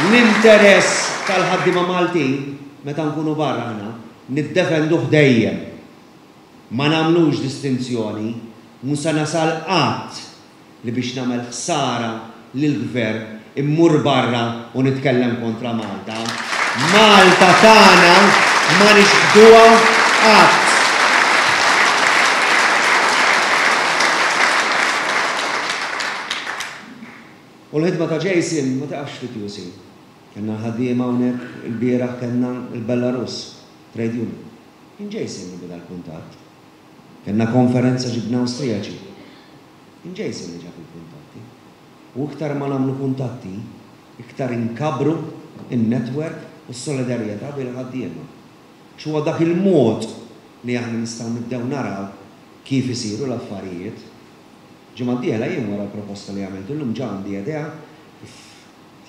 L-interess tal-ħaddiema Maltin meta nkunu barra aħna niddefenduh dejjem. Ma nagħmlux distinzjoni, mhu se nasal qatt li biex nagħmel ħsara lill-gvern immur barra u nitkellem kontra Malta. Malta tagħna ma nixħduha qatt. U l-ħidma ta' Jason ma taqafx fit-T U C. Kellna l-ħaddiema hawnhekk il-bieraħ kellna l-Belarus Trade Union. Kien Jason li beda l-kuntatt. Kellna konferenza ġibna Awstrijaċi. Kien Jason li ġab il-kuntatti. U iktar ma nagħmlu kuntatti, iktar inkabru in-network u s-solidarjetà bejn il-ħaddiema. X'huwa dak il-mod li aħna nistgħu nibdew naraw kif isiru l-affarijiet. Ġimgħa d-dieħla jien wara l-proposta li għamilt illum ġa għandi idea kif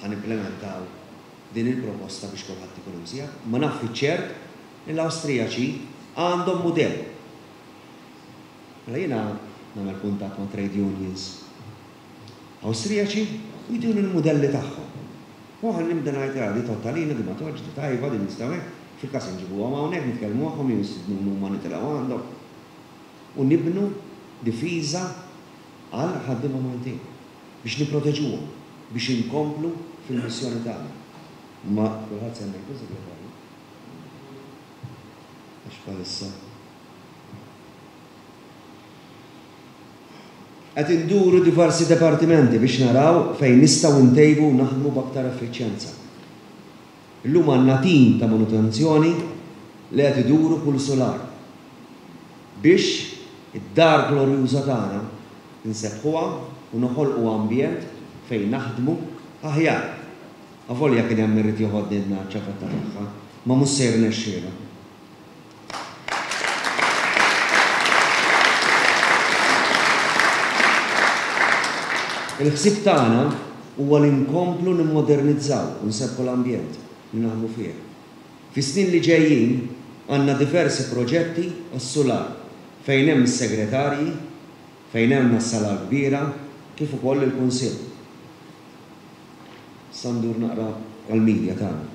ħanimplementaw din il-proposta biex kulħadd ikun imsieħeb, ma naf fiċ-ċert li l-Awstrijaċi għandhom mudell. Mela jiena nagħmel kuntatt ma' trade unions Awstrijaċi u jduni l-mudelli tagħhom. U aħna nibda ngħid ra, di tottalina, di ma toġġ, di tajba, di nistgħu hekk, fil-każ inġibuhom hawnhekk, nitkellmu magħhom, jew jistidnuna huma nitilgħu għandhom. U nibnu difiża għal ħaddiema Maltin biex nipproteġuhom, biex inkomplu fil-missjoni tagħna. Ma kulħadd semmejtu segretarju. Għax bħalissa. Qed induru diversi dipartimenti biex naraw fejn nistgħu ntejbu u naħdmu b'aktar effiċjenza. Illum għandna tim ta' manutenzjoni li qed iduru kull sular biex id-dar glorjuża tagħna nsebbħuha u noħolqu ambjent fejn naħdmu aħjar. Avolja kien hemm irid joħodni n-ċafatta tagħha, ma mhux se jirnexxielu. Il-ħsieb tagħna huwa li nkomplu nimmodernizzaw u nsebbħu l-ambjent li naħdmu fih. Fis-snin li ġejjin għandna diversi proġetti għas-sular fejn hemm is-segretarji, fejn hemm is-sala kbira, kif ukoll il-kunsill. Issa ndur naqra għall-medja tagħna.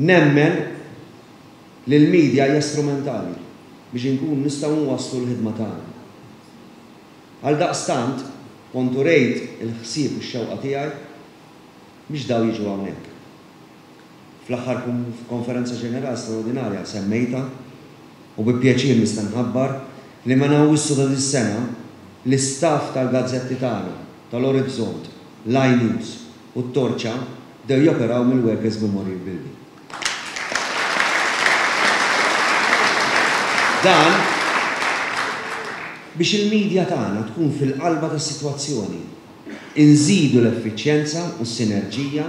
Nemmen li l-medja hija strumentali biex inkun nistgħu nwasslu l-ħidma tagħna. Għaldaqstant, kont urejt il-ħsieb u x-xewqa tiegħi biex daw jiġu hawnhekk. Fl-aħħar konferenza ġenerali straordinarja semmejta u bi pjaċir nista' nħabbar li minn Awwissu ta' dis-sena l-istaff tal-gazzetti tagħna, tal-Orizzont, l-iNews u t-Torċa bdew joperaw mill-Workers Memorial Building. Dan biex il-medja tagħna tkun fil-qalba tas-sitwazzjoni, inżidu l-effiċjenza u s-sinerġija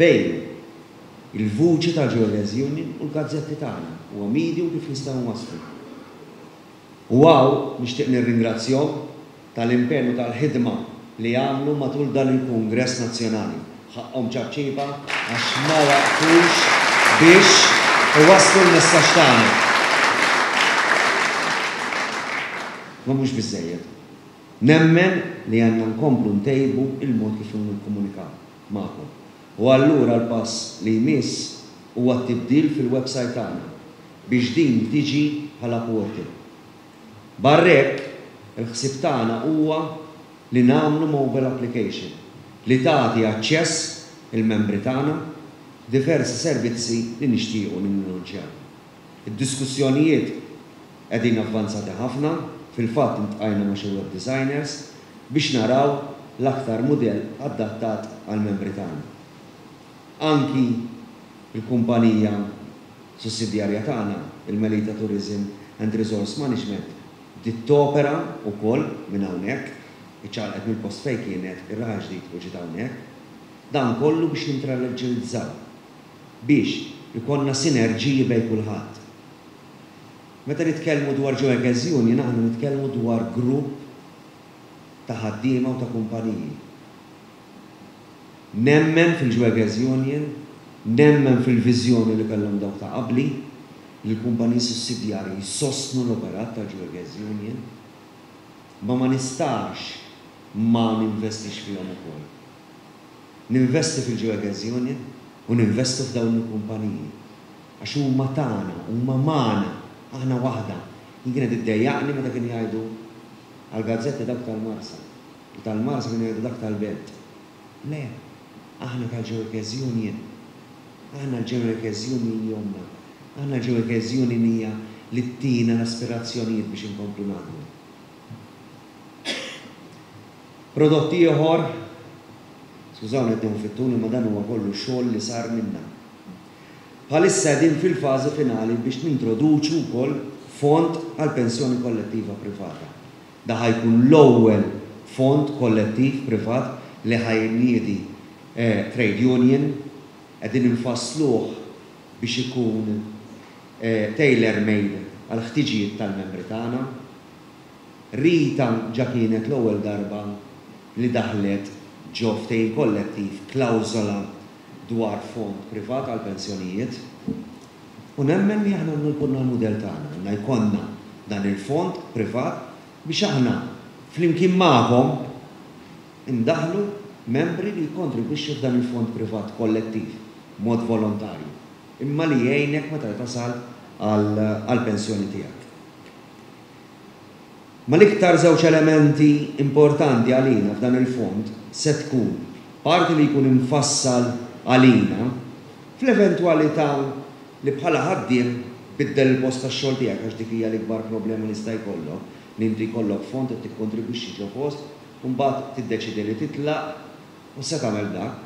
bejn il-vuċi tal-Workers Union u l-gazzetti tagħna. Huwa medium kif nistgħu nwasslu. U hawn nixtieq nirringrazzjahom tal-impenn u tal-ħidma li għamlu matul dan il-Kungress Nazzjonali. Ħaqhom ċapċipa għax ma waqfux biex iwasslu l-messaġġ tagħna. Ma mhux biżżejjed. Nemmen li għandna nkomplu ntejbu il-mod kif nikkomunikaw magħkom. U allura l-pass li jmiss huwa t-tibdil fil-website tagħna biex din tiġi bħala portal. Barrek, il-ħsieb tagħna huwa li nagħmlu mobile application li tagħti aċċess il-membri tagħna diversi servizzi li nixtiequ ninnunċjaw. Id-diskussjonijiet qegħdin avvanzati ħafna, fil-fatt intqajna ma' xi web designers biex naraw l-aktar mudell adattat għall-membri tagħna. Anki il-kumpanija sussidjarja tagħna, il-Melita Tourism and Resource Management, bdiet topera wkoll minn hawnhekk, iċċaqlqet mill-post fejn kienet ir-Raħal Ġdid u ġiet hawnhekk. Dan kollu biex nintraleġġilizzaw, biex ikollna sinerġiji bejn kulħadd. Meta nitkellmu dwar Workers Union, aħna nitkellmu dwar grupp ta' ħaddiema u ta' kumpaniji. Nemmen fil-Workers Union, nemmen fil-viżjoni li kellhom dawk ta' qabli, li l-kumpaniji sussidjarji jsostnu l-operat tal-Workers Union, ma ma nistax ma ninvestix fihom ukoll. Ninvesti fil-Workers Union u ninvestu f'dawn il-kumpaniji. Għax huma tagħna, huma magħna, aħna waħda. Jien kienet iddejjaqni meta kienu jgħidu għall-gazzetti dawk tal-Marsa. U tal-Marsa kienu jgħidu dak tal-Belt. Le, aħna tal-Workers Union. Aħna l-Workers Union jomna. Aħna l-Workers Union hija li ttina l-aspirazzjonijiet biex inkomplu naħdmu. Prodott ieħor, skużawni qed nieħu fit-tul, imma dan huwa kollu xogħol li sar minna. Bħalissa qegħdin fil-fażi finali biex nintroduċu wkoll fond għal pensjoni kollettiva privata. Da ħajkun l-ewwel fond kollettiv privat li ħajniedi, eh, trade union, qegħdin infassluh biex ikun, eh, tailor-made għal ħtiġijiet tal-membri tagħna. Rita ġa kienet l-ewwel darba li daħlet ġo ftehim kollettiv klawżola dwar fond privat għal pensjonijiet. U nemmen li aħna għandna jkollna l-mudell tagħna, għandna jkollna dan il-fond privat biex aħna flimkien magħkom indaħlu membri li jikkontribwixxu f'dan il-fond privat kollettiv b'mod volontarju, imma li jgħinek meta tasal għall-pensjoni tiegħek. Ma l-iktar żewġ elementi importanti għalina f'dan il-fond se tkun parti li jkun infassal għalina fl-eventwalità li bħala ħaddiem biddel il-post tax-xogħol tiegħek, għax dik hija l-ikbar problema li jista' jkollok, li inti jkollok fond qed tikkontribwixxi ġo post u mbagħad tiddeċidi li titlaq u se tagħmel dak.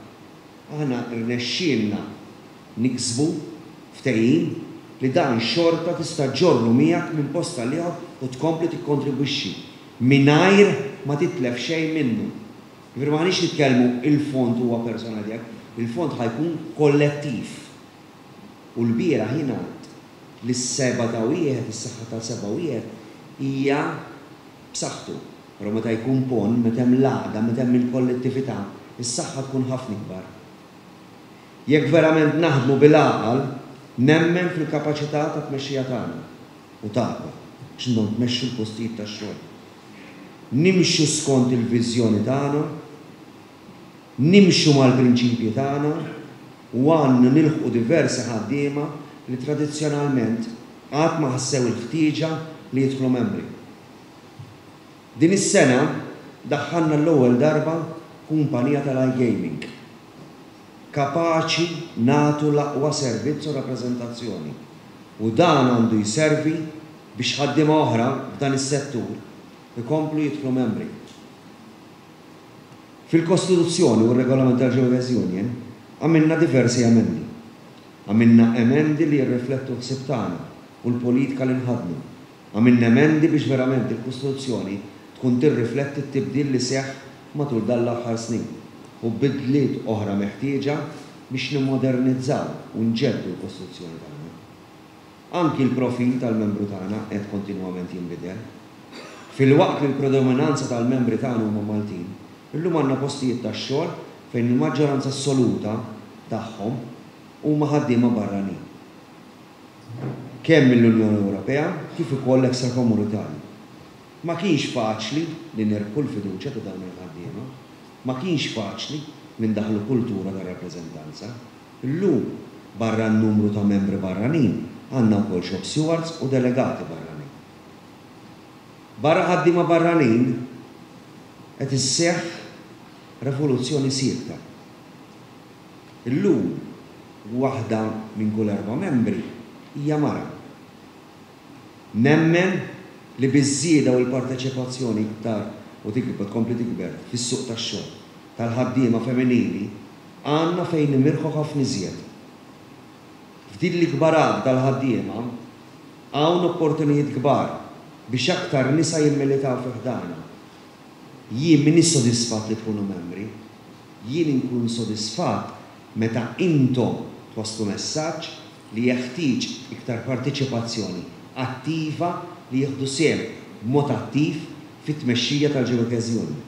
Aħna rnexxielna niksbu ftehim li dan xorta tista' ġorru miegħek minn post għal ieħor u tkompli tikkontribwixxi mingħajr ma titlef xejn minnu. Jiġifieri m'aħniex nitkellmu il-fond huwa personali tiegħek, il-fond ħa jkun kollettiv. U l-bieraħ jingħad li s-seba ta' wieħed, is-saħħa ta' seba' wieħed hija b'saħħtu. Però meta jkun pon, meta hemm l-għaqda, meta hemm il-kollettività, is-saħħa tkun ħafna ikbar. Jekk verament naħdmu bil-għaqal, nemmen fil-kapaċità ta' tmexxija tagħna u tagħkom biex intom tmexxu l-postijiet tax-xogħol. Nimxu skont il-viżjoni tagħna, nimxu mal-prinċipji tagħna u għandna nilħqu diversi ħaddiema li tradizzjonalment qatt ma ħassew il-ħtieġa li jidħlu membri. Din is-sena daħħalna l-ewwel darba kumpanija tal-iGaming, kapaċi nagħtu l-aqwa servizz u rappreżentazzjoni, u dan għandu jservi biex ħaddiema oħra f'dan is-settur ikomplu jidħlu membri. Fil-Kostituzzjoni u r-Regolament tal-Workers' Union għamilna diversi emendi. Għamilna emendi li jirriflettu l-ħsieb tagħna u l-politika li nħaddnu. Għamilna emendi biex verament il-Kostituzzjoni tkun tirrifletti t-tibdil li seħħ matul dan l-aħħar snin u bidliet oħra meħtieġa biex nimmodernizzaw u nġeddu l-Kostituzzjoni tagħna. Anki l-profil tal-membru tagħna qed kontinwament jinbidel. Filwaqt li l-predominanza tal-membri tagħna huma Maltin, illum għandna postijiet tax-xogħol fejn il-maġġoranza assoluta tagħhom huma ħaddiema barranin. Kemm mill-Unjoni Ewropea kif ukoll ekstrakomunitarji. Ma kienx faċli li nirbħu l-fiduċja ta' dawn il-ħaddiema, ma kienx faċli li ndaħlu kultura ta' rappreżentanza. Illum barra n-numru ta' membri barranin għandna wkoll shop stewards u delegati barranin. Barra ħaddiema barranin qed isseħħ rivoluzzjoni siekta. Illum waħda minn kull erba' membri hija mara. Nemmen li biż-żieda u l-parteċipazzjoni iktar u tikber, tkompli tikber fis-suq tax-xogħol tal-ħaddiema femminili għandna fejn nimirħu ħafna iżjed. F'din l-ikbar għaqda tal-ħaddiema hawn opportunijiet kbar biex aktar nisa jimmilitaw fi ħdana. Jien m'iniex sodisfatt li tkunu membri, jien inkun sodisfatt meta intom twasslu messaġġ li jeħtieġ iktar parteċipazzjoni attiva li jieħdu sehem b'mod attiv fit-tmexxija tal-Workers' Union.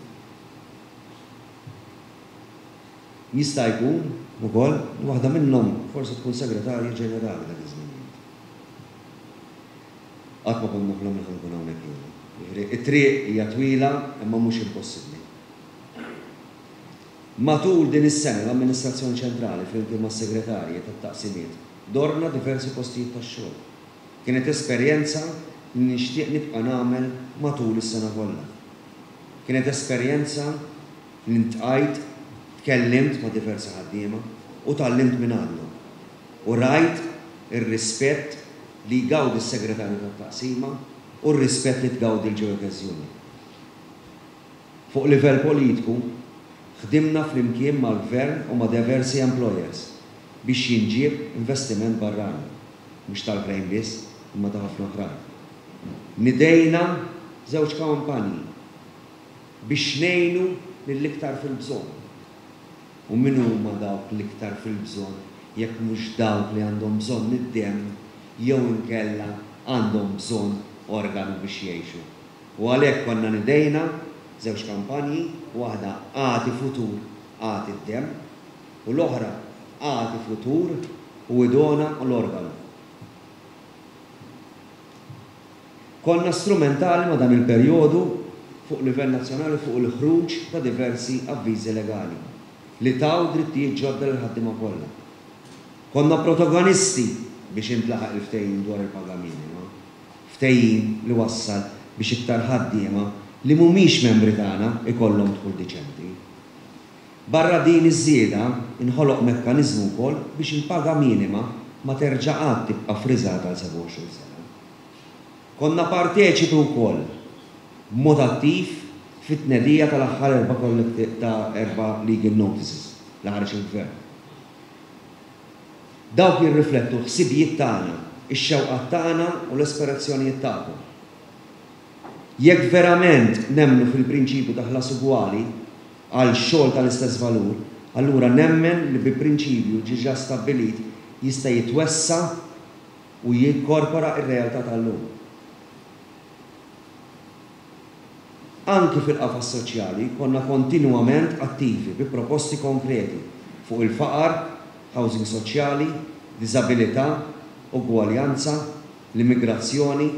Jista' jkun ukoll li waħda minnhom forsi tkun segretarja ġenerali dak iż-żmien. Qatt ma kont noħlom li ħankun hawnhekk jiena. Jiġifieri it-triq hija twila imma mhux impossibbli. Matul din is-sena l-Amministrazzjoni Ċentrali flimkien mas-segretarji tat-taqsimiet dorna diversi postijiet tax-xogħol. Kienet esperjenza li nixtieq nibqa' nagħmel matul is-sena kollha. Kienet esperjenza li ntqajt, tkellimt ma' diversi ħaddiema u tgħallimt minn għandhom. U rajt ir-rispett li jgawdi s-segretarju tat-taqsima u r-rispett li tgawdi l-Workers' Union. Fuq livell politiku, ħdimna flimkien mal-gvern u ma' diversi employers biex jinġieb investiment barrani, mhux tal-Krejn biss, imma ta' ħafna oħrajn. Nidejna żewġ kampanji biex ngħinu lill-iktar fil-bżonn. U min huma dawk l-iktar fil-bżonn jekk mhux dawk li għandhom bżonn id-demm jew inkella għandhom bżonn organu biex jgħixu. U għalhekk konna nidejna żewġ kampanji, waħda Agħti Futur, Agħti d-Demm, u l-oħra Agħti Futur u Idona l-Organu. Konna strumentali ma' dan il-perjodu fuq livell nazzjonali fuq il-ħruġ ta' diversi avviżi legali li taw drittijiet ġodda lil ħaddiema kollha. Konna protagonisti biex intlaħaq il-ftehim dwar il-paga minima, ftehim li wassal biex iktar ħaddiema li mhumiex membri tagħna ikollhom dħul diċenti. Barra din iż-żieda inħoloq mekkaniżmu wkoll biex il-paga minima ma terġa' qatt tibqa' friżata għal sebgħa u għoxrin sena. Konna parteċipi wkoll b'mod attiv fit-tnedija tal-aħħar erba' ta' erba' legal notices li ħareġ il-gvern. Dawk jirriflettu l-ħsibijiet tagħna, ix-xewqat tagħna u l-aspirazzjonijiet tagħkom. Jekk verament nemmnu fil-prinċipju ta' ħlas ugwali għal xogħol tal-istess valur, allura nemmen li bi prinċipju ġiġa stabbilit jista' jitwessa' u jinkorpora r-realtà tal-lum. Anki fil-qafas soċjali konna kontinwament attivi bi proposti konkreti fuq il-faqar, housing soċjali, diżabilità, ugwaljanza, l-immigrazzjoni,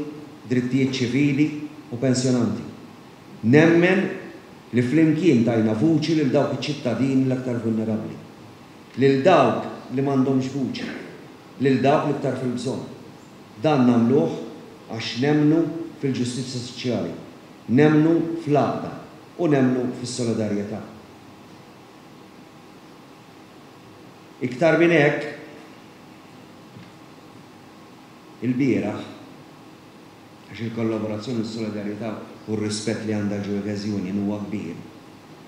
drittijiet ċivili u pensjonanti. Nemmen li flimkien tajna vuċi lil dawk iċ-ċittadini l-aktar vulnerabbli, lil dawk li m'għandhomx vuċi, lil dawk l-iktar fil-bżonn. Dan nagħmluh għax nemmnu fil-ġustizzja soċjali, nemmnu fl-għaqda u nemmnu fis-solidarjetà. Iktar minn hekk, ilbieraħ, għax il-kollaborazzjoni, s-solidarjetà u r-rispett li għandha l-Workers Union huwa kbir,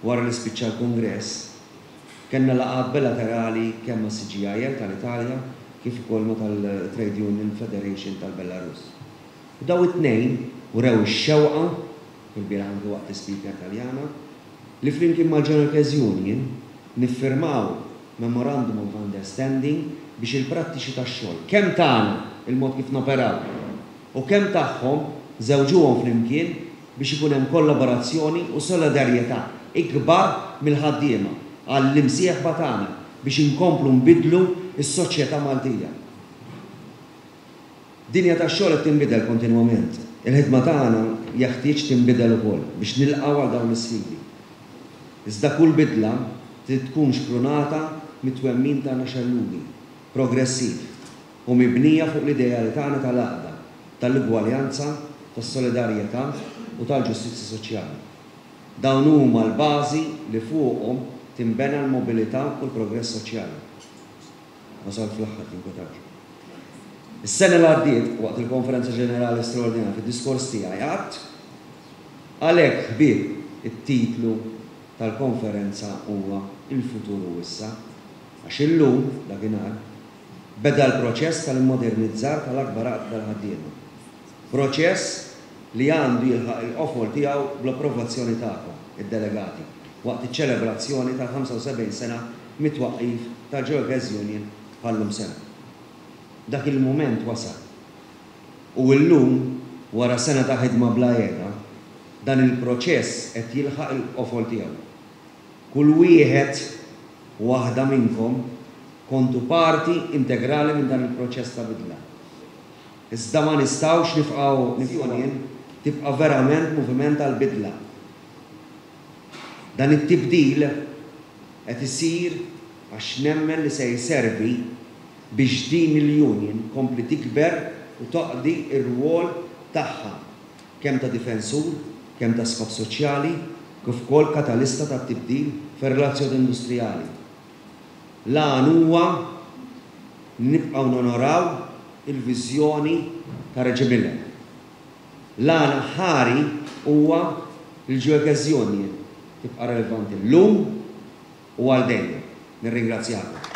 wara li spiċċa l-Kungress, kellna laqgħat bilaterali kemm ma' C G I L tal-Italja kif ukoll ma' tal-Trade Union Federation tal-Belarus. U daw it-tnejn urew ix-xewqa, ilbieraħ anke waqt l-Speaker Taljana, li flimkien mal-General Workers Union niffirmaw Memorandum of Understanding biex il-prattiċi tax-xogħol kemm tagħna il-mod kif noperaw u kemm tagħhom żewġuhom flimkien biex ikun hemm kollaborazzjoni u solidarjetà ikbar mill-ħaddiema għall-imsieħba tagħna biex inkomplu nbidlu s-soċjetà Maltija. Dinja tax-xogħol qed tinbidel kontinwament. Il-ħidma tagħna jeħtieġ tinbidel ukoll biex nilqgħu għal dawn l-isfidi. Iżda kull bidla trid tkun xprunata mit-twemmin tagħna xellugi, progressiv u mibnija fuq l-ideali tagħna tal-għaqda, tal-ugwaljanza, tas-solidarjetà u tal-ġustizzja soċjali. Dawn huma l-bażi li fuqhom tinbena l-mobilità u l-progress soċjali. Wasal fl-aħħar, tinkwetawx. Is-sena li għaddiet, waqt il-Konferenza Ġenerali Straordinarja fid-diskors tiegħi għadt għalhekk ħbieb it-titlu tal-konferenza huwa Il-Futur u Issa, għax illum dakinhar beda l-proċess tal-immodernizzar tal-akbar għaqda tal-ħaddiema. Proċess li għandu jilħaq il-qofol tiegħu bl-approvazzjoni tagħkom, id-delegati, waqt iċ-ċelebrazzjoni tal-ħamsa u sebgħin sena mit-twaqqif tal-Workers Union bħallum sena. Dak il-mument wasal. U llum, wara sena ta' ħidma bla qiegħda, dan il-proċess qed jilħaq il-qofol tiegħu. Kull wieħed u waħda minnkom kontu parti integrali minn dan il-proċess ta' bidla. Iżda ma nistgħux nifqgħu nifqgħu tibqa' verament moviment tal-bidla. Dan it-tibdil qed isir għax nemmen li se jservi biex din il-union kompli tikber u taqdi r-rwol tagħha kemm ta' difensur, kemm ta' skop soċjali, kif ukoll katalista tat-tibdil fir-relazzjoni industrijali. L-għan huwa nibqgħu nonoraw il-viżjoni ta' Reggie Miller. L-għan ħari huwa l-Workers Union tibqa' relevanti llum u għal dejjem. Nirringrazzjakom.